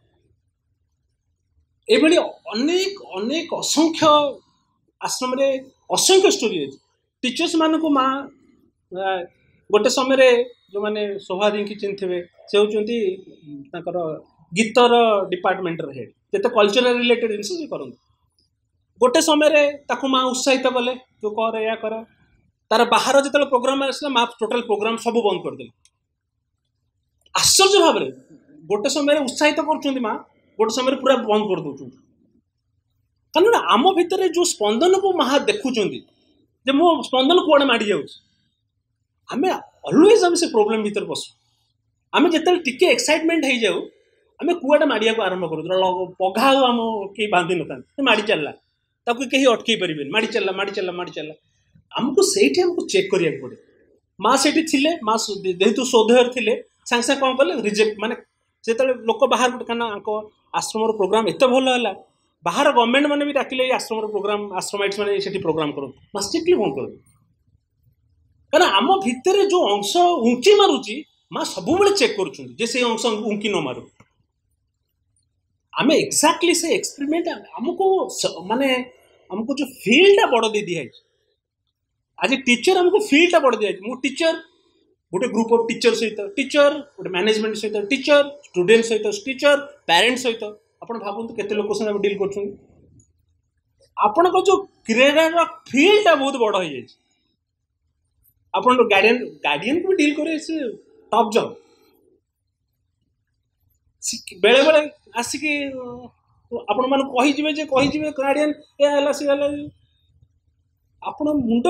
ଏଇଭଳି ଅନେକ ଅନେକ ଅସଂଖ୍ୟ ଆଶ୍ରମରେ ଅସଂଖ୍ୟ ଷ୍ଟୋରି ଅଛି। ଟିଚର୍ସ ମାନଙ୍କୁ ମା ଗୋଟେ ସମୟରେ ଯେଉଁମାନେ ଶୋଭାଦୀଙ୍କୁ ଚିହ୍ନିଥିବେ, ସେ ହେଉଛନ୍ତି ତାଙ୍କର ଗୀତର ଡିପାର୍ଟମେଣ୍ଟର ହେଡ୍, ଯେତେ କଲଚରାଲ ରିଲେଟେଡ୍ ଜିନିଷ ସେ କରନ୍ତି। ଗୋଟେ ସମୟରେ ତାକୁ ମା ଉତ୍ସାହିତ କଲେ, ତୁ କର, ଏଇଆ କର। ତାର ବାହାର ଯେତେବେଳେ ପ୍ରୋଗ୍ରାମ ଆସିଲା, ମା ଟୋଟାଲ ପ୍ରୋଗ୍ରାମ ସବୁ ବନ୍ଦ କରିଦେଲେ। ଆଶ୍ଚର୍ଯ୍ୟ ଭାବରେ ଗୋଟେ ସମୟରେ ଉତ୍ସାହିତ କରୁଛନ୍ତି ମା, ଗୋଟେ ସମୟରେ ପୁରା ବନ୍ଦ କରିଦେଉଛନ୍ତି। କାରଣ ଆମ ଭିତରେ ଯେଉଁ ସ୍ପନ୍ଦନକୁ ମା ଦେଖୁଛନ୍ତି ଯେ ମୋ ସ୍ପନ୍ଦନ କୁଆଡ଼େ ମାଡ଼ି ଯାଉଛି, ଆମେ ଅଲୱେଜ୍ ଆମେ ସେ ପ୍ରୋବ୍ଲେମ୍ ଭିତରେ ପଶୁ। ଆମେ ଯେତେବେଳେ ଟିକେ ଏକ୍ସାଇଟମେଣ୍ଟ ହେଇଯାଉ, ଆମେ କୁଆଡ଼େ ମାଡ଼ିବାକୁ ଆରମ୍ଭ କରୁ। ପଘା ଆଉ ଆମ କେହି ବାନ୍ଧି ନଥାନ୍ତି, ସେ ମାଡ଼ି ଚାଲିଲା, ତାକୁ କେହି ଅଟକେଇ ପାରିବେନି, ମାଡ଼ି ଚାଲିଲା, ମାଡ଼ି ଚାଲିଲା, ମାଡ଼ି ଚାଲିଲା। ଆମକୁ ସେଇଠି ଆମକୁ ଚେକ୍ କରିବାକୁ ପଡ଼େ। ମା ସେଇଠି ଥିଲେ, ମା ଯେହେତୁ ସ୍ୱଦେହରେ ଥିଲେ, ସାଙ୍ଗେ ସାଙ୍ଗେ କ'ଣ କଲେ, ରିଜେକ୍ଟ, ମାନେ ଯେତେବେଳେ ଲୋକ ବାହାରକୁ, କାରଣ ଆଙ୍କ ଆଶ୍ରମର ପ୍ରୋଗ୍ରାମ ଏତେ ଭଲ ହେଲା, ବାହାର ଗଭର୍ଣ୍ଣମେଣ୍ଟ ମାନେ ବି ଡାକିଲେ ଏଇ ଆଶ୍ରମର ପ୍ରୋଗ୍ରାମ, ଆଶ୍ରମାଇଟ୍ସ ମାନେ ସେଠି ପ୍ରୋଗ୍ରାମ କରନ୍ତୁ, ମା ଷ୍ଟ୍ରିକ୍ଟଲି ବନ୍ଦ କରନ୍ତୁ। କାରଣ ଆମ ଭିତରେ ଯେଉଁ ଅଂଶ ଉଞ୍ଚି ମାରୁଛି, ମା ସବୁବେଳେ ଚେକ୍ କରୁଛନ୍ତି ଯେ ସେଇ ଅଂଶ ଉଙ୍କି ନ ମାରୁ। ଆମେ ଏକ୍ଜାକ୍ଟଲି ସେ ଏକ୍ସପେରିମେଣ୍ଟ ଆମକୁ ମାନେ ଆମକୁ ଯେଉଁ ଫିଲ୍ଡଟା ବଡ଼ ଦେଇ ଦିଆହେଇଛି। ଆଜି ଟିଚର ଆମକୁ ଫିଲ୍ଡଟା ବଡ଼ ଦିଆଯାଇଛି। ମୁଁ ଟିଚର ଗୋଟେ ଗ୍ରୁପ୍ ଅଫ୍ ଟିଚର ସହିତ, ଟିଚର ଗୋଟେ ମ୍ୟାନେଜମେଣ୍ଟ ସହିତ, ଟିଚର ଷ୍ଟୁଡେଣ୍ଟ ସହିତ, ଟିଚର ପ୍ୟାରେଣ୍ଟ ସହିତ, ଆପଣ ଭାବନ୍ତୁ କେତେ ଲୋକ ସାଙ୍ଗେ ଆମେ ଡିଲ୍ କରୁଛନ୍ତି। ଆପଣଙ୍କ ଯେଉଁ କ୍ରୀଡ଼ାର ଫିଲ୍ଡଟା ବହୁତ ବଡ଼ ହେଇଯାଇଛି। ଆପଣଙ୍କ ଗାର୍ଡ଼ିଆନ ଗାର୍ଡ଼ିଆନକୁ ବି ଡିଲ୍ କରିବେ, ସେ ଟପ୍ ଜବ୍। ବେଳେବେଳେ ଆସିକି ଆପଣମାନଙ୍କୁ କହିଯିବେ ଯେ କହିଯିବେ ଗାର୍ଡ଼ିଆନ ଏ ହେଲା ସେ ହେଲା, ଆପଣ ମୁଣ୍ଡ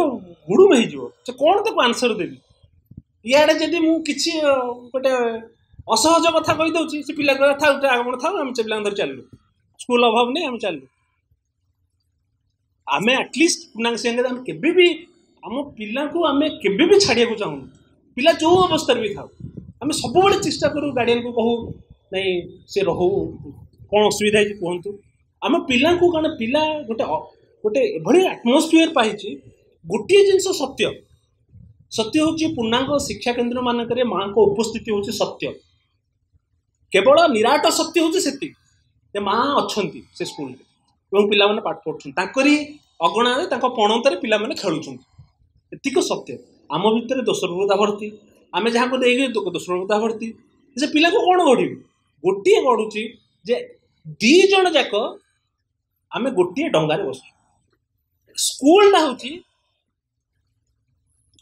ଗୁଡ଼ୁମ ହେଇଯିବ ଯେ କ'ଣ ତାକୁ ଆନ୍ସର ଦେବି। ଇଆଡ଼େ ଯଦି ମୁଁ କିଛି ଗୋଟେ ଅସହଜ କଥା କହିଦେଉଛି, ସେ ପିଲା କହିବା ଥାଉ ଆପଣ ଥାଉ, ଆମେ ସେ ପିଲାଙ୍କୁ ଧରି ଚାଲିଲୁ, ସ୍କୁଲ ଅଭାବ ନେଇ ଆମେ ଚାଲିଲୁ। ଆମେ ଆଟଲିଷ୍ଟ ପୂର୍ଣ୍ଣାଙ୍ଗ ସାଙ୍ଗରେ ଆମେ କେବେ ବି ଆମ ପିଲାଙ୍କୁ ଆମେ କେବେ ବି ଛାଡ଼ିବାକୁ ଚାହୁଁନୁ। ପିଲା ଯେଉଁ ଅବସ୍ଥାରେ ବି ଥାଉ, ଆମେ ସବୁବେଳେ ଚେଷ୍ଟା କରୁ ଗାର୍ଡ଼ିଆନକୁ କହୁ ନାଇଁ ସେ ରହୁ, କ'ଣ ଅସୁବିଧା ହେଇଛି କୁହନ୍ତୁ। ଆମ ପିଲାଙ୍କୁ କାରଣ ପିଲା ଗୋଟେ ଗୋଟେ ଏଭଳି ଆଟମୋସ୍ଫିୟର ପାଇଛି। ଗୋଟିଏ ଜିନିଷ ସତ୍ୟ, ସତ୍ୟ ହେଉଛି ପୂର୍ଣ୍ଣାଙ୍ଗ ଶିକ୍ଷା କେନ୍ଦ୍ର ମାନଙ୍କରେ ମାଆଙ୍କ ଉପସ୍ଥିତି ହେଉଛି ସତ୍ୟ। କେବଳ ନିରାଟ ସତ୍ୟ ହେଉଛି ସେତିକି ଯେ ମା ଅଛନ୍ତି ସେ ସ୍କୁଲରେ ଏବଂ ପିଲାମାନେ ପାଠ ପଢ଼ୁଛନ୍ତି, ତାଙ୍କରି ଅଗଣାରେ ତାଙ୍କ ପଣନ୍ତରେ ପିଲାମାନେ ଖେଳୁଛନ୍ତି, ଏତିକ ସତ୍ୟ। ଆମ ଭିତରେ ଦୋଷପ୍ରବୃତ୍ତା ଭର୍ତ୍ତି, ଆମେ ଯାହାକୁ ଦେଇକି ଦୋଷପ୍ରବୃତ୍ତା ଭର୍ତ୍ତି। ସେ ପିଲାକୁ କ'ଣ ଗଢ଼ିବି? ଗୋଟିଏ ଗଢ଼ୁଛି ଯେ ଦୁଇ ଜଣ ଯାକ ଆମେ ଗୋଟିଏ ଡଙ୍ଗାରେ ବସୁଛୁ। ସ୍କୁଲଟା ହେଉଛି,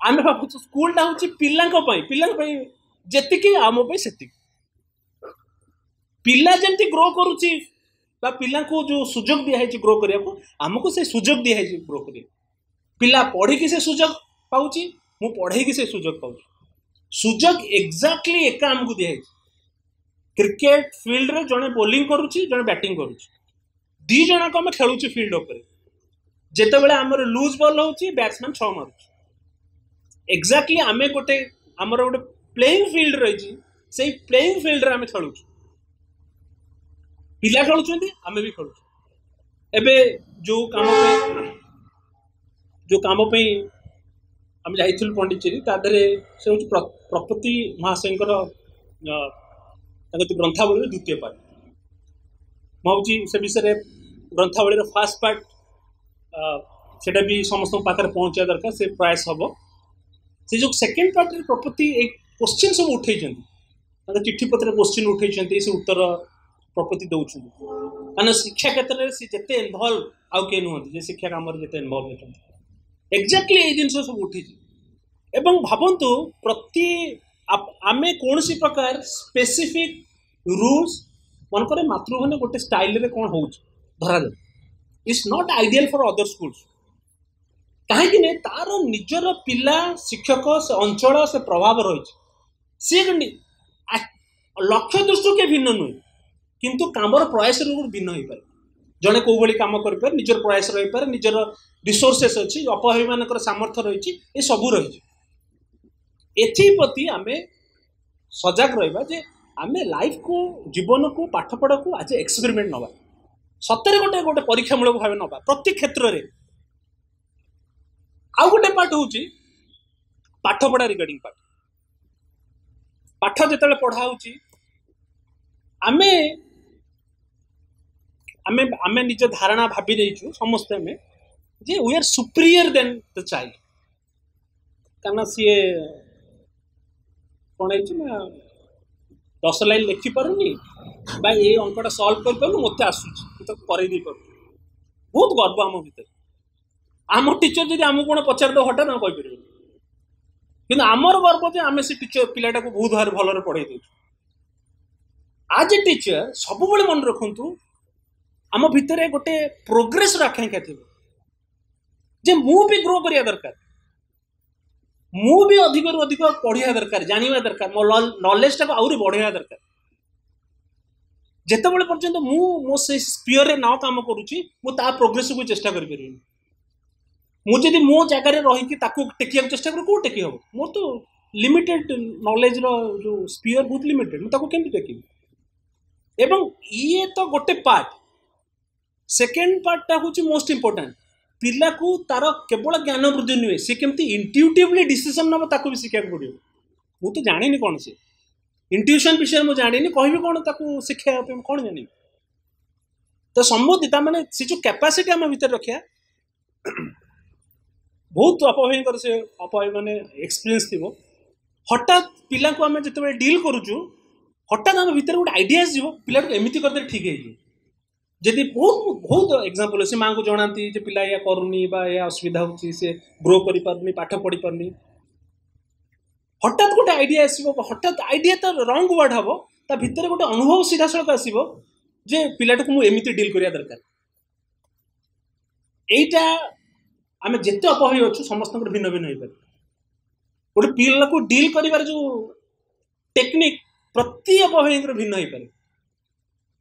ଆମେ ଭାବୁଛୁ ସ୍କୁଲଟା ହେଉଛି ପିଲାଙ୍କ ପାଇଁ, ପିଲାଙ୍କ ପାଇଁ ଯେତିକି ଆମ ପାଇଁ ସେତିକି। ପିଲା ଯେମିତି ଗ୍ରୋ କରୁଛି ବା ପିଲାଙ୍କୁ ଯେଉଁ ସୁଯୋଗ ଦିଆହେଇଛି ଗ୍ରୋ କରିବାକୁ, ଆମକୁ ସେ ସୁଯୋଗ ଦିଆହେଇଛି ଗ୍ରୋ କରିବାକୁ। ପିଲା ପଢ଼ିକି ସେ ସୁଯୋଗ ପାଉଛି, ମୁଁ ପଢ଼େଇକି ସେ ସୁଯୋଗ ପାଉଛି। ସୁଯୋଗ ଏକ୍ଜାକ୍ଟଲି ଏକା ଆମକୁ ଦିଆହେଇଛି। କ୍ରିକେଟ ଫିଲ୍ଡରେ ଜଣେ ବୋଲିଂ କରୁଛି, ଜଣେ ବ୍ୟାଟିଂ କରୁଛି, ଦୁଇ ଜଣକ ଆମେ ଖେଳୁଛୁ ଫିଲ୍ଡ ଉପରେ। ଯେତେବେଳେ ଆମର ଲୁଜ୍ ବଲ୍ ହେଉଛି, ବ୍ୟାଟ୍ସମ୍ୟାନ୍ ଛଅ ମାରୁଛି। ଏକ୍ଜାକ୍ଟଲି ଆମେ ଗୋଟେ ଆମର ଗୋଟେ ପ୍ଲେଇଂ ଫିଲ୍ଡ ରହିଛି, ସେଇ ପ୍ଲେଇଂ ଫିଲ୍ଡରେ ଆମେ ଖେଳୁଛୁ। ପିଲା ଖେଳୁଛନ୍ତି, ଆମେ ବି ଖେଳୁଛୁ। ଏବେ ଯେଉଁ କାମ ପାଇଁ ଯେଉଁ କାମ ପାଇଁ ଆମେ ଯାଇଥିଲୁ ପଣ୍ଡିଚେରୀ, ତା ଦେହରେ ସେ ହେଉଛି ପ୍ରପତି ମହାଶୟଙ୍କର ତାଙ୍କ ଯେଉଁ ଗ୍ରନ୍ଥାବଳୀର ଦ୍ୱିତୀୟ ପାର୍ଟ। ମୁଁ ଭାବୁଛି ସେ ବିଷୟରେ ଗ୍ରନ୍ଥାବଳୀର ଫାର୍ଷ୍ଟ ପାର୍ଟ ସେଇଟା ବି ସମସ୍ତଙ୍କ ପାଖରେ ପହଞ୍ଚିବା ଦରକାର, ସେ ପ୍ରୟାସ ହେବ। ସେ ଯେଉଁ ସେକେଣ୍ଡ ପାର୍ଟରେ ପ୍ରପତି ଏଇ କୋଶ୍ଚିନ୍ ସବୁ ଉଠେଇଛନ୍ତି, ତାଙ୍କ ଚିଠିପତ୍ରରେ କୋଶ୍ଚିନ୍ ଉଠେଇଛନ୍ତି, ସେ ଉତ୍ତର ପ୍ରପତି ଦେଉଛନ୍ତି। କାରଣ ଶିକ୍ଷା କ୍ଷେତ୍ରରେ ସେ ଯେତେ ଇନଭଲ୍ଭ ଆଉ କିଏ ନୁହନ୍ତି ଯେ ଶିକ୍ଷା କାମରେ ଯେତେ ଇନଭଲ୍ଭ ହେଇଛନ୍ତି। ଏକ୍ଜାକ୍ଟଲି ଏଇ ଜିନିଷ ସବୁ ଉଠିଛି। ଏବଂ ଭାବନ୍ତୁ ପ୍ରତି ଆମେ କୌଣସି ପ୍ରକାର ସ୍ପେସିଫିକ୍ ରୁଲ୍ସ, ମନେକର ମାତୃଭୂମି ଗୋଟେ ଷ୍ଟାଇଲରେ କ'ଣ ହେଉଛି ଧରାଯାଉ, it's not ideal for other schools. କାହିଁକି ନା ତାର ନିଜର ପିଲା, ଶିକ୍ଷକ, ସେ ଅଞ୍ଚଳ, ସେ ପ୍ରଭାବ ରହିଛି। ସିଏ ଲକ୍ଷ୍ୟ ଦୃଷ୍ଟିରୁ କିଏ ଭିନ୍ନ ନୁହେଁ, କିନ୍ତୁ କାମର ପ୍ରୟାସରୁ ଭିନ୍ନ ହେଇପାରେ। ଜଣେ କେଉଁ ଭଳି କାମ କରିପାରେ, ନିଜର ପ୍ରୟାସ ରହିପାରେ, ନିଜର ରିସୋର୍ସେସ୍ ଅଛି, ଅପଭାବୀମାନଙ୍କର ସାମର୍ଥ୍ୟ ରହିଛି, ଏସବୁ ରହିଛି। ଏଥିପ୍ରତି ଆମେ ସଜାଗ ରହିବା ଯେ ଆମେ ଲାଇଫକୁ, ଜୀବନକୁ, ପାଠପଢ଼ାକୁ ଆଜି ଏକ୍ସପେରିମେଣ୍ଟ ନେବା, ସତରେ ଗୋଟେ ଗୋଟେ ପରୀକ୍ଷାମୂଳକ ଭାବେ ନେବା ପ୍ରତି କ୍ଷେତ୍ରରେ। ଆଉ ଗୋଟେ ପାର୍ଟ ହେଉଛି ପାଠପଢ଼ା ରିଗାର୍ଡିଂ ପାଠ। ପାଠ ଯେତେବେଳେ ପଢ଼ା ହେଉଛି, ଆମେ ଆମେ ଆମେ ନିଜ ଧାରଣା ଭାବି ଦେଇଛୁ ସମସ୍ତେ ଆମେ ଯେ we are superior than the child. କାରଣ ସିଏ କ'ଣ ହେଇଛି ନା ଦଶ ଲାଇନ୍ ଲେଖିପାରୁନି ବା ଏଇ ଅଙ୍କଟା ସଲ୍ଭ କରିପାରୁନି, ମୋତେ ଆସୁଛି, ମୁଁ ତାକୁ କରେଇ ଦେଇପାରୁଛି। ବହୁତ ଗର୍ବ ଆମ ଭିତରେ। ଆମ ଟିଚର ଯଦି ଆମକୁ କ'ଣ ପଚାରିଦେବ ହଠାତ୍ ଆମେ କହିପାରିବୁନି, କିନ୍ତୁ ଆମର ଗର୍ବ ଯେ ଆମେ ସେ ଟିଚର ପିଲାଟାକୁ ବହୁତ ଭାରି ଭଲରେ ପଢ଼େଇ ଦେଉଛୁ। ଆଜ୍ ଏ ଟିଚର ସବୁବେଳେ ମନେ ରଖନ୍ତୁ ଆମ ଭିତରେ ଗୋଟେ ପ୍ରୋଗ୍ରେସର ଆକାଂକ୍ଷା ଥିବ ଯେ ମୁଁ ବି ଗ୍ରୋ କରିବା ଦରକାର, ମୁଁ ବି ଅଧିକରୁ ଅଧିକ ପଢ଼ିବା ଦରକାର, ଜାଣିବା ଦରକାର, ମୋ ନଲେଜଟାକୁ ଆହୁରି ବଢ଼େଇବା ଦରକାର। ଯେତେବେଳେ ପର୍ଯ୍ୟନ୍ତ ମୁଁ ମୋ ସେଇ ସ୍ପିୟରରେ ନ କାମ କରୁଛି, ମୁଁ ତା ପ୍ରୋଗ୍ରେସକୁ ଚେଷ୍ଟା କରିପାରିବିନି। ମୁଁ ଯଦି ମୋ ଜାଗାରେ ରହିକି ତାକୁ ଟେକିବାକୁ ଚେଷ୍ଟା କରିବି, କେଉଁ ଟେକି ହେବ? ମୋର ତ ଲିମିଟେଡ୍ ନଲେଜର ଯେଉଁ ସ୍ପିୟର ବହୁତ ଲିମିଟେଡ୍, ମୁଁ ତାକୁ କେମିତି ଟେକିବି? ଏବଂ ଇଏ ତ ଗୋଟେ ପାର୍ଟ। ସେକେଣ୍ଡ ପାର୍ଟଟା ହେଉଛି ମୋଷ୍ଟ ଇମ୍ପୋର୍ଟାଣ୍ଟ। ପିଲାକୁ ତାର କେବଳ ଜ୍ଞାନ ବୃଦ୍ଧି ନୁହେଁ, ସେ କେମିତି ଇଣ୍ଟ୍ୟୁଟିଭଲି ଡିସିସନ୍ ନେବ ତାକୁ ବି ଶିଖିବାକୁ ପଡ଼ିବ। ମୁଁ ତ ଜାଣିନି କ'ଣ ସେ, ଇଣ୍ଟ୍ୟୁସନ୍ ବିଷୟରେ ମୁଁ ଜାଣିନି, କହିବି କ'ଣ ତାକୁ ଶିଖେଇବା ପାଇଁ, ମୁଁ କ'ଣ ଜାଣିବି? ତ ସମ୍ବୁଦ୍ଧି ତା ମାନେ ସେ ଯେଉଁ କ୍ୟାପାସିଟି ଆମ ଭିତରେ ରଖିବା, ବହୁତ ଅପଭାଇଙ୍କର ସେ ଅପଭାଇ ମାନେ ଏକ୍ସପିରିଏନ୍ସ ଥିବ। ହଠାତ୍ ପିଲାଙ୍କୁ ଆମେ ଯେତେବେଳେ ଡିଲ୍ କରୁଛୁ, ହଠାତ୍ ଆମ ଭିତରେ ଗୋଟେ ଆଇଡ଼ିଆ ଆସିଯିବ, ପିଲାଟାକୁ ଏମିତି କରିଦେଲେ ଠିକ୍ ହେଇଯିବ। ଯଦି ବହୁତ ବହୁତ ଏକ୍ଜାମ୍ପଲ୍ ଅଛି, ମାଆଙ୍କୁ ଜଣାନ୍ତି ଯେ ପିଲା ଏଇଆ କରୁନି ବା ଏଇଆ ଅସୁବିଧା ହେଉଛି, ସେ ଗ୍ରୋ କରିପାରୁନି, ପାଠ ପଢ଼ିପାରୁନି। ହଠାତ୍ ଗୋଟେ ଆଇଡ଼ିଆ ଆସିବ, ହଠାତ୍ ଆଇଡ଼ିଆ ତ ରଙ୍ଗ ୱାର୍ଡ଼ ହେବ, ତା ଭିତରେ ଗୋଟେ ଅନୁଭବ ସିଧାସଳଖ ଆସିବ ଯେ ପିଲାଟାକୁ ମୁଁ ଏମିତି ଡିଲ୍ କରିବା ଦରକାର। ଏଇଟା ଆମେ ଯେତେ ଅପଭାବୀ ଅଛୁ ସମସ୍ତଙ୍କର ଭିନ୍ନ ଭିନ୍ନ ହେଇପାରେ। ଗୋଟେ ପିଲାକୁ ଡିଲ୍ କରିବାର ଯେଉଁ ଟେକ୍ନିକ୍ ପ୍ରତି ଅପଭାବୀଙ୍କର ଭିନ୍ନ ହେଇପାରେ,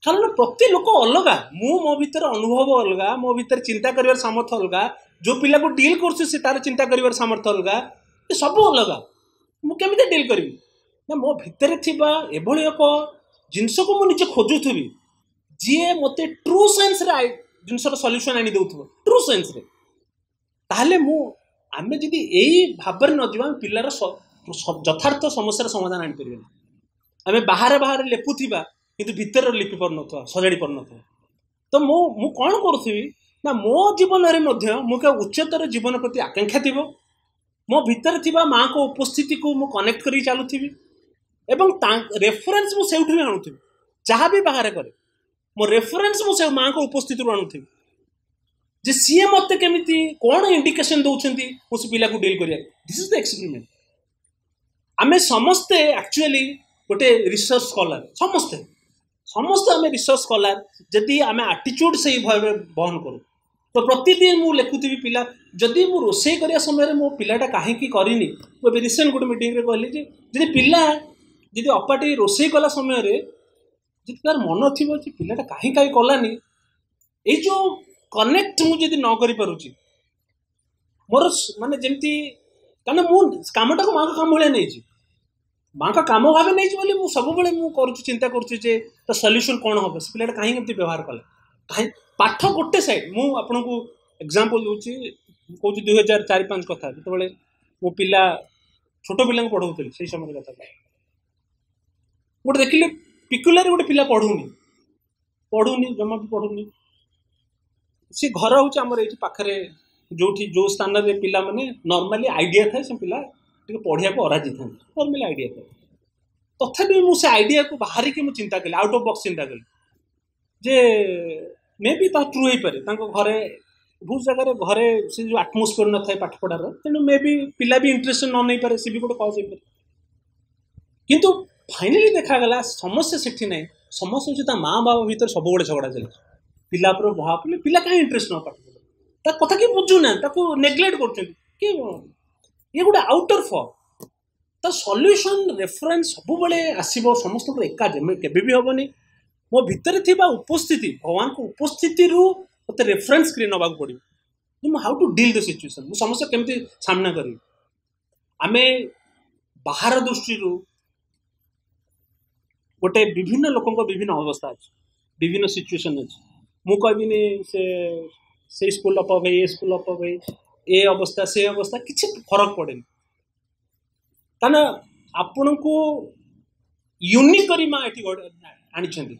କାରଣ ପ୍ରତି ଲୋକ ଅଲଗା। ମୁଁ ମୋ ଭିତରେ ଅନୁଭବ ଅଲଗା, ମୋ ଭିତରେ ଚିନ୍ତା କରିବାର ସାମର୍ଥ୍ୟ ଅଲଗା, ଯେଉଁ ପିଲାକୁ ଡିଲ୍ କରୁଛି ସେ ତାର ଚିନ୍ତା କରିବାର ସାମର୍ଥ୍ୟ ଅଲଗା, ଏ ସବୁ ଅଲଗା। ମୁଁ କେମିତି ଡିଲ୍ କରିବି ନା ମୋ ଭିତରେ ଥିବା ଏଭଳି ଏକ ଜିନିଷକୁ ମୁଁ ନିଜେ ଖୋଜୁଥିବି ଯିଏ ମୋତେ ଟ୍ରୁ ସେନ୍ସରେ ଜିନିଷର ସଲ୍ୟୁସନ୍ ଆଣି ଦେଉଥିବ, ଟ୍ରୁ ସେନ୍ସରେ। ତାହେଲେ ମୁଁ ଆମେ ଯଦି ଏଇ ଭାବରେ ନ ଯିବା, ଆମେ ପିଲାର ଯଥାର୍ଥ ସମସ୍ୟାର ସମାଧାନ ଆଣିପାରିବାନି। ଆମେ ବାହାରେ ବାହାରେ ଲେପୁଥିବା କିନ୍ତୁ ଭିତରେ ଲିପି ପାରୁନଥିବା, ସଜାଡ଼ି ପାରୁନଥିବା। ତ ମୁଁ ମୁଁ କ'ଣ କରୁଥିବି ନା ମୋ ଜୀବନରେ ମଧ୍ୟ ମୁଁ ଏକ ଉଚ୍ଚତର ଜୀବନ ପ୍ରତି ଆକାଂକ୍ଷା ଥିବ, ମୋ ଭିତରେ ଥିବା ମାଆଙ୍କ ଉପସ୍ଥିତିକୁ ମୁଁ କନେକ୍ଟ କରିକି ଚାଲୁଥିବି ଏବଂ ତା ରେଫରେନ୍ସ ମୁଁ ସେଇଠୁ ବି ଆଣୁଥିବି। ଯାହା ବି ବାହାରେ କରେ ମୋ ରେଫରେନ୍ସ ମୁଁ ସେ ମାଆଙ୍କ ଉପସ୍ଥିତିରୁ ଆଣୁଥିବି ଯେ ସିଏ ମୋତେ କେମିତି କ'ଣ ଇଣ୍ଡିକେସନ୍ ଦେଉଛନ୍ତି ମୁଁ ସେ ପିଲାକୁ ଡିଲ୍ କରିବାକୁ। This is the experiment. ଆମେ ସମସ୍ତେ ଆକ୍ଚୁଆଲି ଗୋଟେ ରିସର୍ଚ୍ଚ ସ୍କଲାର, ସମସ୍ତେ ସମସ୍ତେ ଆମେ ରିସର୍ଚ୍ଚ ସ୍କଲାର ଯଦି ଆମେ ଆଟିଚ୍ୟୁଡ଼ ସେଇ ଭାବରେ ବହନ କରୁ। ତ ପ୍ରତିଦିନ ମୁଁ ଲେଖୁଥିବି ପିଲା, ଯଦି ମୁଁ ରୋଷେଇ କରିବା ସମୟରେ ମୋ ପିଲାଟା କାହିଁକି କରିନି, ମୁଁ ଏବେ ରିସେଣ୍ଟ ଗୋଟେ ମିଟିଂରେ କହିଲି ଯେ ଯଦି ପିଲା ଯଦି ଅପାଟି ରୋଷେଇ କଲା ସମୟରେ ଯଦି ତାର ମନ ଥିବ ଯେ ପିଲାଟା କାହିଁ କାହିଁ କଲାନି, ଏଇ ଯେଉଁ କନେକ୍ଟ ମୁଁ ଯଦି ନ କରିପାରୁଛି ମୋର ମାନେ ଯେମିତି, କାରଣ ମୁଁ କାମଟାକୁ ମାଆଙ୍କ କାମ ଭଳିଆ ନେଇଛି, ମାଆଙ୍କ କାମ ଭାବେ ନେଇଛି ବୋଲି ମୁଁ ସବୁବେଳେ ମୁଁ କରୁଛି, ଚିନ୍ତା କରୁଛି ଯେ ତା ସଲ୍ୟୁସନ୍ କ'ଣ ହେବ, ସେ ପିଲାଟା କାହିଁକି ଏମିତି ବ୍ୟବହାର କଲା, କାହିଁ ପାଠ ଗୋଟେ ସାଇଡ଼୍। ମୁଁ ଆପଣଙ୍କୁ ଏକ୍ଜାମ୍ପଲ୍ ଦେଉଛି, କହୁଛି ଦୁଇ ହଜାର ଚାରି ପାଞ୍ଚ କଥା, ଯେତେବେଳେ ମୋ ପିଲା ଛୋଟ ପିଲାଙ୍କୁ ପଢ଼ଉଥିଲି ସେଇ ସମୟରେ କଥା। ଗୋଟେ ଦେଖିଲି ପିକୁଲାରେ ଗୋଟେ ପିଲା ପଢ଼ୁନି, ପଢ଼ୁନି ଜମା ବି ପଢ଼ୁନି। ସେ ଘର ହେଉଛି ଆମର ଏଇଠି ପାଖରେ, ଯେଉଁଠି ଯେଉଁ ସ୍ଥାନରେ ପିଲାମାନେ ନର୍ମାଲି ଆଇଡ଼ିଆ ଥାଏ, ସେ ପିଲା ଟିକେ ପଢ଼ିବାକୁ ଅରାଜି ଥାନ୍ତି, ନର୍ମାଲି ଆଇଡ଼ିଆ ଥାଏ। ତଥାପି ମୁଁ ସେ ଆଇଡ଼ିଆକୁ ବାହାରିକି ମୁଁ ଚିନ୍ତା କଲି, ଆଉଟ୍ ଅଫ୍ ବକ୍ସ ଚିନ୍ତା କଲି ଯେ ମେ ବି ତା ଟ୍ରୁ ହେଇପାରେ। ତାଙ୍କ ଘରେ ବହୁତ ଜାଗାରେ ଘରେ ସେ ଯେଉଁ ଆଟମୋସ୍ଫିୟର ନଥାଏ ପାଠ ପଢ଼ାର, ତେଣୁ ମେ ବି ପିଲା ବି ଇଣ୍ଟରେଷ୍ଟ ନ ନେଇପାରେ, ସେ ବି ଗୋଟେ କଜ୍ ହେଇପାରେ। କିନ୍ତୁ ଫାଇନାଲି ଦେଖାଗଲା ସମସ୍ୟା ସେଠି ନାହିଁ, ସମସ୍ୟା ହେଉଛି ତା ମା ବାବା ଭିତରେ ସବୁବେଳେ ଝଗଡ଼ା ଚାଲିଛି। ପିଲା ଉପରେ ଭାବ ପଡ଼ିଲେ ପିଲା କାହିଁ ଇଣ୍ଟରେଷ୍ଟ ନ ପାଠ ପଢ଼େ, ତା କଥା କିଏ ବୁଝୁନାହାନ୍ତି, ତାକୁ ନେଗ୍ଲେକ୍ଟ କରୁଛନ୍ତି କି ଇଏ ଗୋଟେ ଆଉଟର ଫର୍ମ। ତା ସଲ୍ୟୁସନ୍ ରେଫରେନ୍ସ ସବୁବେଳେ ଆସିବ ସମସ୍ତଙ୍କର ଏକା କେବେ ବି ହେବନି। ମୋ ଭିତରେ ଥିବା ଉପସ୍ଥିତି, ଭଗବାନଙ୍କ ଉପସ୍ଥିତିରୁ ମୋତେ ରେଫରେନ୍ସ କରି ନେବାକୁ ପଡ଼ିବ ଯେ ମୁଁ how to deal the situation, ମୁଁ ସମସ୍ୟା କେମିତି ସାମ୍ନା କରିବି। ଆମେ ବାହାର ଦୃଷ୍ଟିରୁ ଗୋଟେ ବିଭିନ୍ନ ଲୋକଙ୍କ ବିଭିନ୍ନ ଅବସ୍ଥା ଅଛି, ବିଭିନ୍ନ ସିଚୁଏସନ୍ ଅଛି। ମୁଁ କହିବିନି ସେ ସେଇ ସ୍କୁଲ ଅପ୍ ଭାଇ, ଏ ସ୍କୁଲ ଅପ୍ ଭାଇ, ଏ ଅବସ୍ଥା ସେ ଅବସ୍ଥା, କିଛି ଫରକ ପଡ଼େନି। କାରଣ ଆପଣଙ୍କୁ ୟୁନିକ୍ କରି ମା ଏଠି ଆଣିଛନ୍ତି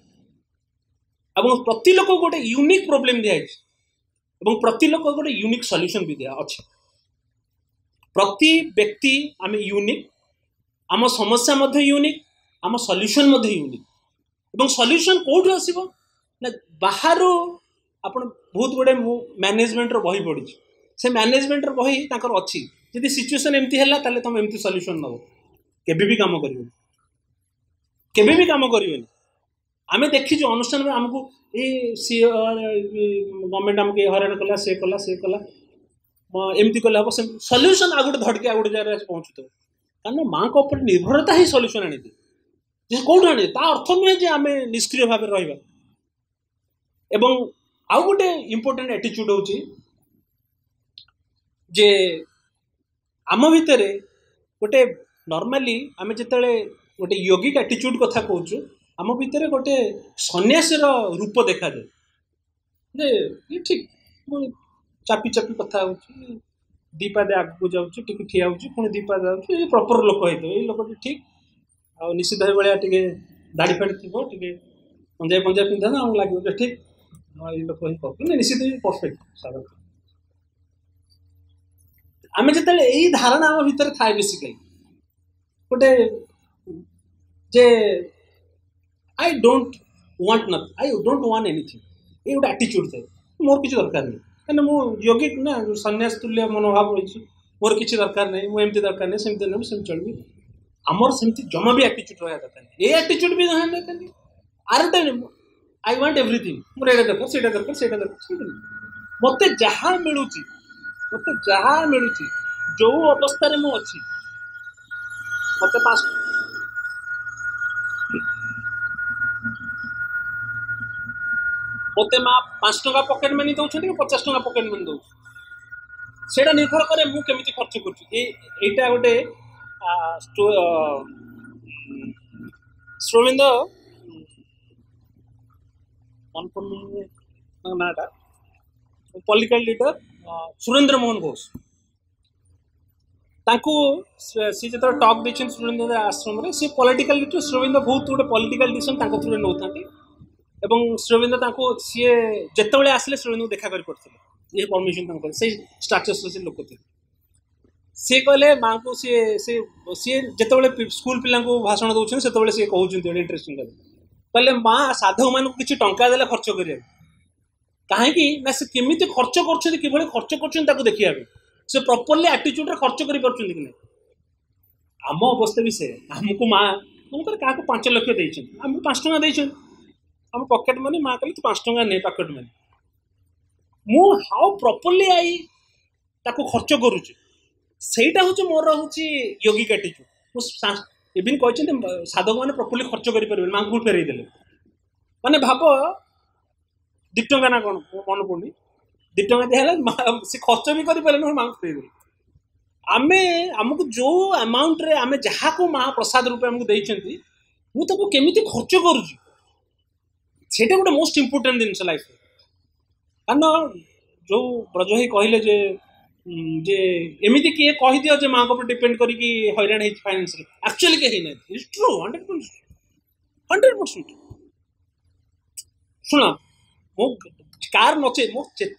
ଏବଂ ପ୍ରତି ଲୋକକୁ ଗୋଟେ ୟୁନିକ୍ ପ୍ରୋବ୍ଲେମ୍ ଦିଆହେଇଛି ଏବଂ ପ୍ରତି ଲୋକକୁ ଗୋଟେ ୟୁନିକ୍ ସଲ୍ୟୁସନ୍ ବି ଦିଆ ଅଛି। ପ୍ରତି ବ୍ୟକ୍ତି ଆମେ ୟୁନିକ୍, ଆମ ସମସ୍ୟା ମଧ୍ୟ ୟୁନିକ୍, ଆମ ସଲ୍ୟୁସନ୍ ମଧ୍ୟ ୟୁନିକ୍। ଏବଂ ସଲ୍ୟୁସନ୍ କେଉଁଠୁ ଆସିବ ନା ବାହାରୁ। ଆପଣ ବହୁତ ଗୁଡ଼ିଏ ମୁଁ ମ୍ୟାନେଜମେଣ୍ଟର ବହି ପଢ଼ିଛି, ସେ ମ୍ୟାନେଜମେଣ୍ଟର ବହି ତାଙ୍କର ଅଛି, ଯଦି ସିଚୁଏସନ୍ ଏମିତି ହେଲା ତାହେଲେ ତୁମେ ଏମିତି ସଲ୍ୟୁସନ୍ ନେବ। କେବେ ବି କାମ କରିବନି, କେବେ ବି କାମ କରିବନି। ଆମେ ଦେଖିଛୁ ଅନୁଷ୍ଠାନରେ ଆମକୁ ଏ ସିଏ ଗଭର୍ଣ୍ଣମେଣ୍ଟ ଆମକୁ ଏ ହଇରାଣ କଲା, ସେ କଲା, ସେ କଲା, ଏମିତି କଲେ ହେବ, ସେମିତି ସଲ୍ୟୁସନ୍ ଆଉ ଗୋଟେ ଧଡ଼ିକି ଆଉ ଗୋଟେ ଜାଗାରେ ଆସି ପହଞ୍ଚୁଥିବ। କାରଣ ମାଆଙ୍କ ଉପରେ ନିର୍ଭରତା ହିଁ ସଲ୍ୟୁସନ୍ ଆଣିଦିଏ। ଯେ କେଉଁଠୁ ଆଣିଦିଏ ତା ଅର୍ଥ ନୁହେଁ ଯେ ଆମେ ନିଷ୍କ୍ରିୟ ଭାବରେ ରହିବା। ଏବଂ ଆଉ ଗୋଟେ ଇମ୍ପୋର୍ଟାଣ୍ଟ ଆଟିଚ୍ୟୁଡ଼ ହେଉଛି ଯେ ଆମ ଭିତରେ ଗୋଟେ ନର୍ମାଲି ଆମେ ଯେତେବେଳେ ଗୋଟେ ୟୋଗିକ ଆଟିଚ୍ୟୁଡ଼ କଥା କହୁଛୁ, ଆମ ଭିତରେ ଗୋଟେ ସନ୍ନ୍ୟାସୀର ରୂପ ଦେଖାଯାଏ ଯେ ଇଏ ଠିକ୍, ମୁଁ ଚାପି ଚାପି କଥା ହେଉଛି, ଦୁଇ ପାଦେ ଆଗକୁ ଯାଉଛି, ଟିକେ ଠିଆ ହେଉଛି, ପୁଣି ଦୁଇ ପାଦ ଯାଉଛି, ଏ ପ୍ରପର ଲୋକ ହେଇଥିବ, ଏଇ ଲୋକଟି ଠିକ୍, ଆଉ ନିଶ୍ଚିତ ଭଳିଆ ଟିକେ ଦାଢ଼ି ଫାଡ଼ି ଥିବ, ଟିକେ ପଞ୍ଜାବୀ ପଞ୍ଜାବୀ ପିନ୍ଧା, ଆମକୁ ଲାଗିବ ଯେ ଠିକ୍ ଏଇ ଲୋକ ହିଁ ପରଫେକ୍ଟ, ନିଶ୍ଚିତ ପରଫେକ୍ଟ ସାଧକ। ଆମେ ଯେତେବେଳେ ଏଇ ଧାରଣା ଆମ ଭିତରେ ଥାଏ, ବେସିକାଲି ଗୋଟେ ଯେ I don't want nothing, I don't want anything, ଏଇ ଗୋଟେ ଆଟିଚ୍ୟୁଡ଼ ଥାଏ, ମୋର କିଛି ଦରକାର ନାହିଁ, କାହିଁକିନା ମୁଁ ୟୋଗିକ ନା, ସନ୍ନ୍ୟାସ ତୁଲ୍ୟ ମନୋଭାବ ରହିଛି, ମୋର କିଛି ଦରକାର ନାହିଁ, ମୁଁ ଏମିତି ଦରକାର ନାହିଁ, ସେମିତି ନାହିଁ, ମୁଁ ସେମିତି ଚଳିବି। ଆମର ସେମିତି ଜମା ବି ଆଟିଚ୍ୟୁଡ଼ ରହିବା ଦରକାର ନାହିଁ। ଏ ଆଟିଚ୍ୟୁଡ଼ ବି ରହିବା ଦରକାର ନାହିଁ। ଆରଟା I want everything, ମୋର ଏଇଟା ଦରକାର, ସେଇଟା ଦରକାର, ସେଇଟା ଦରକାର, ସେଇଟା ନାହିଁ। ମୋତେ ଯାହା ମିଳୁଛି, ମୋତେ ଯାହା ମିଳୁଛି, ଯୋଉ ଅବସ୍ଥାରେ ମୁଁ ଅଛି, ମୋତେ ପାଞ୍ଚ ମୋତେ ମା ପାଞ୍ଚ ଟଙ୍କା ପକେଟ୍ ମନି ଦେଉଛନ୍ତି କି ପଚାଶ ଟଙ୍କା ପକେଟ୍ ମନି ଦେଉଛି, ସେଇଟା ନିର୍ଭର କରେ ମୁଁ କେମିତି ଖର୍ଚ୍ଚ କରୁଛି। ଏଇ ଏଇଟା ଗୋଟେ ଶ୍ରୀଅରବିନ୍ଦ, ମନେ ପଡୁନି ତାଙ୍କ ନାଁଟା, ପଲିଟିକାଲ ଲିଡର ସୁରେନ୍ଦ୍ର ମୋହନ ଘୋଷ, ତାଙ୍କୁ ସିଏ ଯେତେବେଳେ ଟକ୍ ଦେଇଛନ୍ତି ସୁରେନ୍ଦ୍ର ଆଶ୍ରମରେ, ସେ ପଲିଟିକାଲ ଲିଡର ଶ୍ରୀଅରବିନ୍ଦ ବହୁତ ଗୋଟେ ପଲିଟିକାଲ ଡିସିସନ ତାଙ୍କ ଥ୍ରୁରେ ନେଉଥାନ୍ତି, ଏବଂ ଶ୍ରୀଅରବିନ୍ଦ ତାଙ୍କୁ ସିଏ ଯେତେବେଳେ ଆସିଲେ ଶ୍ରୀଅରବିନ୍ଦଙ୍କୁ ଦେଖା କରିପାରୁଥିଲେ, ଇଏ ପରମିସନ ତାଙ୍କୁ କଲେ, ସେଇ ଷ୍ଟାଟସର ସେ ଲୋକ ଥିଲେ। ସିଏ କହିଲେ ମାଆଙ୍କୁ, ସିଏ ସେ ସିଏ ଯେତେବେଳେ ସ୍କୁଲ ପିଲାଙ୍କୁ ଭାଷଣ ଦେଉଛନ୍ତି ସେତେବେଳେ ସିଏ କହୁଛନ୍ତି ଗୋଟେ ଇଣ୍ଟରେଷ୍ଟିଂ କଥା, କହିଲେ ମା ସାଧକମାନଙ୍କୁ କିଛି ଟଙ୍କା ଦେଲେ ଖର୍ଚ୍ଚ କରିବାକୁ, କାହିଁକି ନା ସେ କେମିତି ଖର୍ଚ୍ଚ କରୁଛନ୍ତି, କିଭଳି ଖର୍ଚ୍ଚ କରୁଛନ୍ତି ତାକୁ ଦେଖିବା ପାଇଁ, ସେ ପ୍ରପରଲି ଆଟିଚ୍ୟୁଡ଼ରେ ଖର୍ଚ୍ଚ କରିପାରୁଛନ୍ତି କି ନାହିଁ। ଆମ ଅବସ୍ଥା ବି ସେ, ଆମକୁ ମା ମନେକର କାହାକୁ ପାଞ୍ଚ ଲକ୍ଷ ଦେଇଛନ୍ତି, ଆମକୁ ପାଞ୍ଚ ଟଙ୍କା ଦେଇଛନ୍ତି, ଆମ ପକେଟ୍ ମନି, ମା କହିଲେ ତୁ ପାଞ୍ଚ ଟଙ୍କା ନେ ପକେଟ୍ ମନି, ମୁଁ ହାଉ ପ୍ରପରଲି I ତାକୁ ଖର୍ଚ୍ଚ କରୁଛି, ସେଇଟା ହେଉଛି ମୋର ହେଉଛି ୟୋଗିକ ଆଟିଚ୍ୟୁଡ଼। ମୁଁ ଇଭିନ୍ କହିଛନ୍ତି ସାଧକମାନେ ପ୍ରପରଲି ଖର୍ଚ୍ଚ କରିପାରିବେନି, ମାଆଙ୍କୁ ଫେରେଇ ଦେଲେ। ମାନେ ଭାବ ଦୁଇ ଟଙ୍କା ନା କ'ଣ ମୋ ମନେ ପଡ଼ୁନି, ଦୁଇ ଟଙ୍କା ଦିଆହେଲା, ମା ସେ ଖର୍ଚ୍ଚ ବି କରିପାରିଲେନି, ମାଆଙ୍କୁ ଫେରେଇ ଦେଲେ। ଆମେ ଆମକୁ ଯେଉଁ ଆମାଉଣ୍ଟରେ ଆମେ ଯାହାକୁ ମା ପ୍ରସାଦ ରୂପେ ଆମକୁ ଦେଇଛନ୍ତି, ମୁଁ ତାକୁ କେମିତି ଖର୍ଚ୍ଚ କରୁଛି, ସେଇଟା ଗୋଟେ ମୋଷ୍ଟ ଇମ୍ପୋର୍ଟାଣ୍ଟ ଜିନିଷ ଲାଇଫରେ। କାରଣ ଯେଉଁ ବ୍ରଜ ଭାଇ କହିଲେ ଯେ ଯେ ଏମିତି କିଏ କହିଦିଅ ଯେ ମାଆଙ୍କ ଉପରେ ଡିପେଣ୍ଡ କରିକି ହଇରାଣ ହେଇଛି ଫାଇନାନ୍ସରେ, ଆକ୍ଚୁଆଲି କେହି ହେଇନାହାନ୍ତି। It's true, hundred percent, hundred percent. ଶୁଣ, ମୁଁ କାର ନଚେ ମୋ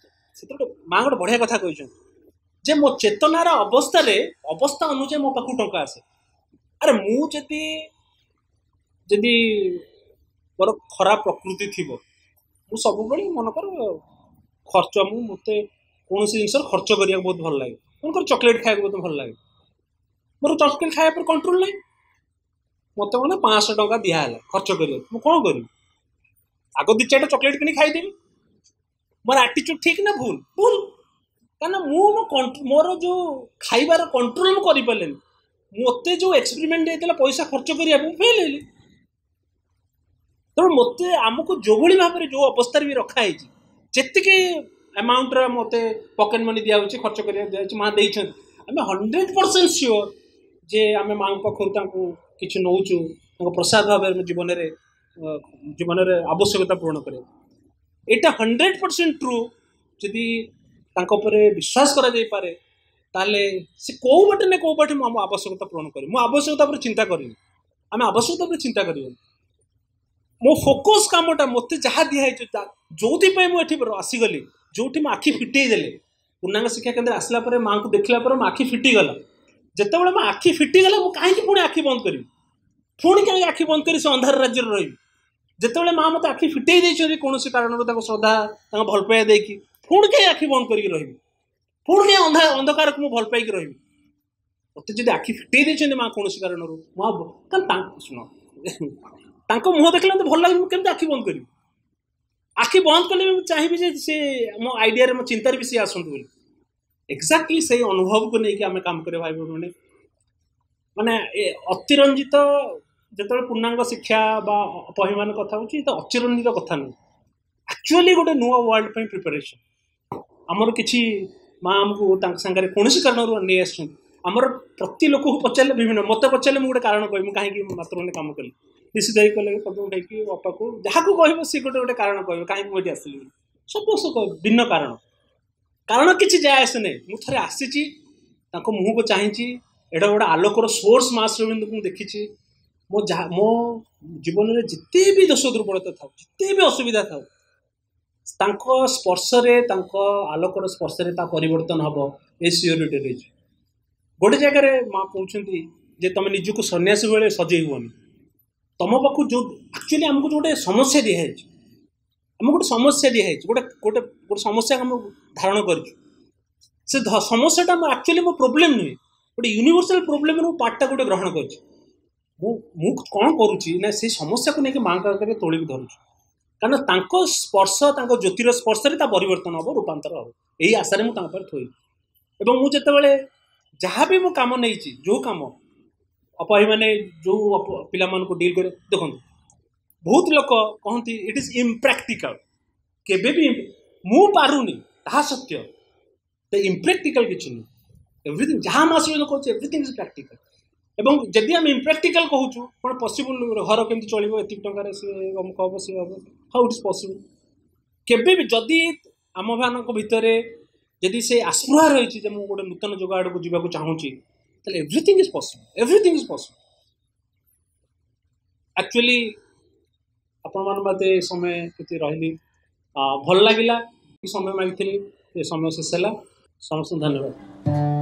ସେଥିରେ ଗୋଟେ ମା ଗୋଟେ ବଢ଼ିଆ କଥା କହିଛନ୍ତି ଯେ ମୋ ଚେତନାର ଅବସ୍ଥାରେ ଅବସ୍ଥା ଅନୁଯାୟୀ ମୋ ପାଖକୁ ଟଙ୍କା ଆସେ। ଆରେ ମୁଁ ଯଦି ଯଦି ମୋର ଖରାପ ପ୍ରକୃତି ଥିବ, ମୁଁ ସବୁବେଳେ ମନେକର ଖର୍ଚ୍ଚ, ମୁଁ ମୋତେ କୌଣସି ଜିନିଷର ଖର୍ଚ୍ଚ କରିବାକୁ ବହୁତ ଭଲ ଲାଗେ, ମନେକର ଚକୋଲେଟ୍ ଖାଇବାକୁ ବହୁତ ଭଲ ଲାଗେ, ମୋର ଚକୋଲେଟ୍ ଖାଇବା ଉପରେ କଣ୍ଟ୍ରୋଲ ନାହିଁ, ମୋତେ ମାନେ ପାଞ୍ଚଶହ ଟଙ୍କା ଦିଆହେଲା ଖର୍ଚ୍ଚ କରିବାକୁ, ମୁଁ କ'ଣ କରିବି? ଆଗ ଦୁଇ ଚାରିଟା ଚକୋଲେଟ୍ କିଣି ଖାଇଦେବି। ମୋର ଆଟିଚ୍ୟୁଡ଼ ଠିକ୍ ନା ଭୁଲ? ଭୁଲ। କାରଣ ମୁଁ ମୋ ମୋର ଯେଉଁ ଖାଇବାର କଣ୍ଟ୍ରୋଲ ମୁଁ କରିପାରିଲିନି, ମୋତେ ଯେଉଁ ଏକ୍ସପେରିମେଣ୍ଟ ହେଇଥିଲା ପଇସା ଖର୍ଚ୍ଚ କରିବାକୁ, ମୁଁ ଫେଲ୍ ହେଲି। ତେଣୁ ମୋତେ ଆମକୁ ଯେଉଁଭଳି ଭାବରେ ଯେଉଁ ଅବସ୍ଥାରେ ବି ରଖା ହେଇଛି, ଯେତିକି ଆମାଉଣ୍ଟର ମୋତେ ପକେଟ୍ ମନି ଦିଆହେଉଛି, ଖର୍ଚ୍ଚ କରିବାକୁ ଦିଆହେଉଛି, ମା ଦେଇଛନ୍ତି, ଆମେ ହଣ୍ଡ୍ରେଡ଼ ପରସେଣ୍ଟ ସିଓର ଯେ ଆମେ ମାଆଙ୍କ ପାଖରୁ ତାଙ୍କୁ କିଛି ନେଉଛୁ, ତାଙ୍କ ପ୍ରସାଦ ଭାବରେ ଆମ ଜୀବନରେ ଜୀବନରେ ଆବଶ୍ୟକତା ପୂରଣ କରିବାକୁ। ଏଇଟା ହଣ୍ଡ୍ରେଡ଼ ପରସେଣ୍ଟ ଟ୍ରୁ। ଯଦି ତାଙ୍କ ଉପରେ ବିଶ୍ୱାସ କରାଯାଇପାରେ, ତାହେଲେ ସେ କେଉଁ ବାଟେ ନା କେଉଁ ବାଟେ ମୁଁ ଆମ ଆବଶ୍ୟକତା ପୂରଣ କରିବି। ମୁଁ ଆବଶ୍ୟକତା ଉପରେ ଚିନ୍ତା କରିନି, ଆମେ ଆବଶ୍ୟକତା ଉପରେ ଚିନ୍ତା କରିବାନି। ମୋ ଫୋକସ୍ କାମଟା ମୋତେ ଯାହା ଦିଆହେଇଛି, ଯେଉଁଥିପାଇଁ ମୁଁ ଏଠି ଆସିଗଲି, ଯେଉଁଠି ମୋ ଆଖି ଫିଟେଇ ଦେଲେ, ପୂର୍ଣ୍ଣାଙ୍ଗ ଶିକ୍ଷା କେନ୍ଦ୍ର ଆସିଲା ପରେ ମାଆଙ୍କୁ ଦେଖିଲା ପରେ ମୋ ଆଖି ଫିଟିଗଲା। ଯେତେବେଳେ ମୋ ଆଖି ଫିଟିଗଲା, ମୁଁ କାହିଁକି ପୁଣି ଆଖି ବନ୍ଦ କରିବି? ପୁଣି କାହିଁକି ଆଖି ବନ୍ଦ କରି ସେ ଅନ୍ଧାର ରାଜ୍ୟରେ ରହିବି? ଯେତେବେଳେ ମା ମୋତେ ଆଖି ଫିଟେଇ ଦେଇଛନ୍ତି କୌଣସି କାରଣରୁ, ତାଙ୍କ ଶ୍ରଦ୍ଧା, ତାଙ୍କ ଭଲ ପାଇବା ଦେଇକି, ପୁଣି କାହିଁ ଆଖି ବନ୍ଦ କରିକି ରହିବି? ପୁଣି କାହିଁ ଅନ୍ଧା ଅନ୍ଧକାରକୁ ମୁଁ ଭଲ ପାଇକି ରହିବି? ମୋତେ ଯଦି ଆଖି ଫିଟେଇ ଦେଇଛନ୍ତି ମା କୌଣସି କାରଣରୁ, ମୁଁ ଆଉ କାରଣ ତାଙ୍କ ଶୁଣ, ତାଙ୍କ ମୁହଁ ଦେଖିଲେ ମୋତେ ଭଲ ଲାଗେ, ମୁଁ କେମିତି ଆଖି ବନ୍ଦ କରିବି? ଆଖି ବନ୍ଦ କଲେ ବି ମୁଁ ଚାହିଁବି ଯେ ସେ ମୋ ଆଇଡ଼ିଆରେ, ମୋ ଚିନ୍ତାରେ ବି ସିଏ ଆସନ୍ତୁ ବୋଲି। ଏକ୍ଜାକ୍ଟଲି ସେଇ ଅନୁଭବକୁ ନେଇକି ଆମେ କାମ କରିବା ଭାଇ ଭଉଣୀମାନେ। ମାନେ ଏ ଅତିରଞ୍ଜିତ ଯେତେବେଳେ ପୂର୍ଣ୍ଣାଙ୍ଗ ଶିକ୍ଷା ବା ପହିମାନ କଥା ହେଉଛି, ତ ଅତିରଞ୍ଜିତ କଥା ନୁହେଁ, ଆକ୍ଚୁଆଲି ଗୋଟେ ନୂଆ ୱାର୍ଲଡ ପାଇଁ ପ୍ରିପାରେସନ୍। ଆମର କିଛି ମା ଆମକୁ ତାଙ୍କ ସାଙ୍ଗରେ କୌଣସି କାରଣରୁ ନେଇ ଆସିଛନ୍ତି। ଆମର ପ୍ରତି ଲୋକକୁ ପଚାରିଲେ ବିଭିନ୍ନ, ମୋତେ ପଚାରିଲେ ମୁଁ ଗୋଟେ କାରଣ କହିବି ମୁଁ କାହିଁକି ମାତୃଭୂମି କାମ କଲି। ନିଶ୍ଚିତ ହେଇ କଲେ ପଦ୍ମ ଭାଇକି, ବାପାକୁ, ଯାହାକୁ କହିବ ସିଏ ଗୋଟେ ଗୋଟେ କାରଣ କହିବ କାହିଁକି ମୁଁ ଏଠି ଆସିଲି ବୋଲି। ସବୁ ଭିନ୍ନ କାରଣ, କାରଣ କିଛି ଯାଏ ଆସେ ନାହିଁ। ମୁଁ ଥରେ ଆସିଛି, ତାଙ୍କ ମୁହଁକୁ ଚାହିଁଛି, ଏଇଟା ଗୋଟେ ଆଲୋକର ସୋର୍ସ ମା ଶ୍ରୀଅରବିନ୍ଦଙ୍କୁ ମୁଁ ଦେଖିଛି, ମୋ ଯାହା ମୋ ଜୀବନରେ ଯେତେ ବି ଦୋଷ ଦୁର୍ବଳତା ଥାଉ, ଯେତେ ବି ଅସୁବିଧା ଥାଉ, ତାଙ୍କ ସ୍ପର୍ଶରେ, ତାଙ୍କ ଆଲୋକର ସ୍ପର୍ଶରେ ତା ପରିବର୍ତ୍ତନ ହେବ, ଏ ସିଓରିଟି ରହିଛି। ଗୋଟେ ଜାଗାରେ ମା କହୁଛନ୍ତି ଯେ ତମେ ନିଜକୁ ସନ୍ନ୍ୟାସୀ ଭଳି ସଜେଇ ହୁଅନି। ତମ ପାଖକୁ ଯେଉଁ ଆକ୍ଚୁଆଲି ଆମକୁ ଯେଉଁ ଗୋଟେ ସମସ୍ୟା ଦିଆହେଇଛି, ଆମକୁ ଗୋଟେ ସମସ୍ୟା ଦିଆହେଇଛି, ଗୋଟେ ଗୋଟେ ଗୋଟେ ସମସ୍ୟା ଆମେ ଧାରଣ କରିଛୁ। ସେ ସମସ୍ୟାଟା ଆମ ଆକ୍ଚୁଆଲି ମୋ ପ୍ରୋବ୍ଲେମ୍ ନୁହେଁ, ଗୋଟେ ୟୁନିଭର୍ସାଲ ପ୍ରୋବ୍ଲେମ୍ର ମୁଁ ପାର୍ଟଟା ଗୋଟେ ଗ୍ରହଣ କରିଛି। ମୁଁ ମୁଁ କ'ଣ କରୁଛି ନା ସେଇ ସମସ୍ୟାକୁ ନେଇକି ମାଆଙ୍କ ଆଗରେ ତୋଳିକି ଧରୁଛି, କାରଣ ତାଙ୍କ ସ୍ପର୍ଶ, ତାଙ୍କ ଜ୍ୟୋତିର ସ୍ପର୍ଶରେ ତା ପରିବର୍ତ୍ତନ ହେବ, ରୂପାନ୍ତର ହେବ। ଏଇ ଆଶାରେ ମୁଁ ତାଙ୍କ ପାଖରେ ଥୋଇଛି। ଏବଂ ମୁଁ ଯେତେବେଳେ ଯାହା ବି ମୁଁ କାମ ନେଇଛି, ଯେଉଁ କାମ ଅପାହୀମାନେ ଯେଉଁ ପିଲାମାନଙ୍କୁ ଡିଲ୍ କରେ, ଦେଖନ୍ତୁ ବହୁତ ଲୋକ କହନ୍ତି ଇଟ୍ is ଇମ୍ପ୍ରାକ୍ଟିକାଲ। କେବେ ବି ମୁଁ ପାରୁନି ତାହା ସତ୍ୟ, ତ ଇମ୍ପ୍ରାକ୍ଟିକାଲ କିଛି ନୁହେଁ। ଏଭ୍ରିଥିଙ୍ଗ ଯାହା ମୁଁ ଆସିବ କହୁଛି, ଏଭ୍ରିଥିଙ୍ଗ is practical. ଏବଂ ଯଦି ଆମେ ଇମ୍ପ୍ରାକ୍ଟିକାଲ କହୁଛୁ, କ'ଣ ପସିବୁଲ? ଘର କେମିତି ଚଳିବ ଏତିକି ଟଙ୍କାରେ? ସିଏ ଅମୁକ ହେବ, ସିଏ ହେବ, ହାଉ ଇଟ୍ is possible? କେବେ ବି ଯଦି ଆମମାନଙ୍କ ଭିତରେ ଯଦି ସେ ଆସ୍ପୃହା ରହିଛି ଯେ ମୁଁ ଗୋଟେ ନୂତନ ଯୁଗ ଆଡ଼କୁ ଯିବାକୁ ଚାହୁଁଛି, ତାହେଲେ everything is possible, everything is possible. Actually ଆପଣମାନେ ମୋତେ ସମୟ କେତେ ରହିଲି ଭଲ ଲାଗିଲା, ସମୟ ମାଗିଥିଲି, ଏ ସମୟ ଶେଷ ହେଲା। ସମସ୍ତଙ୍କୁ ଧନ୍ୟବାଦ।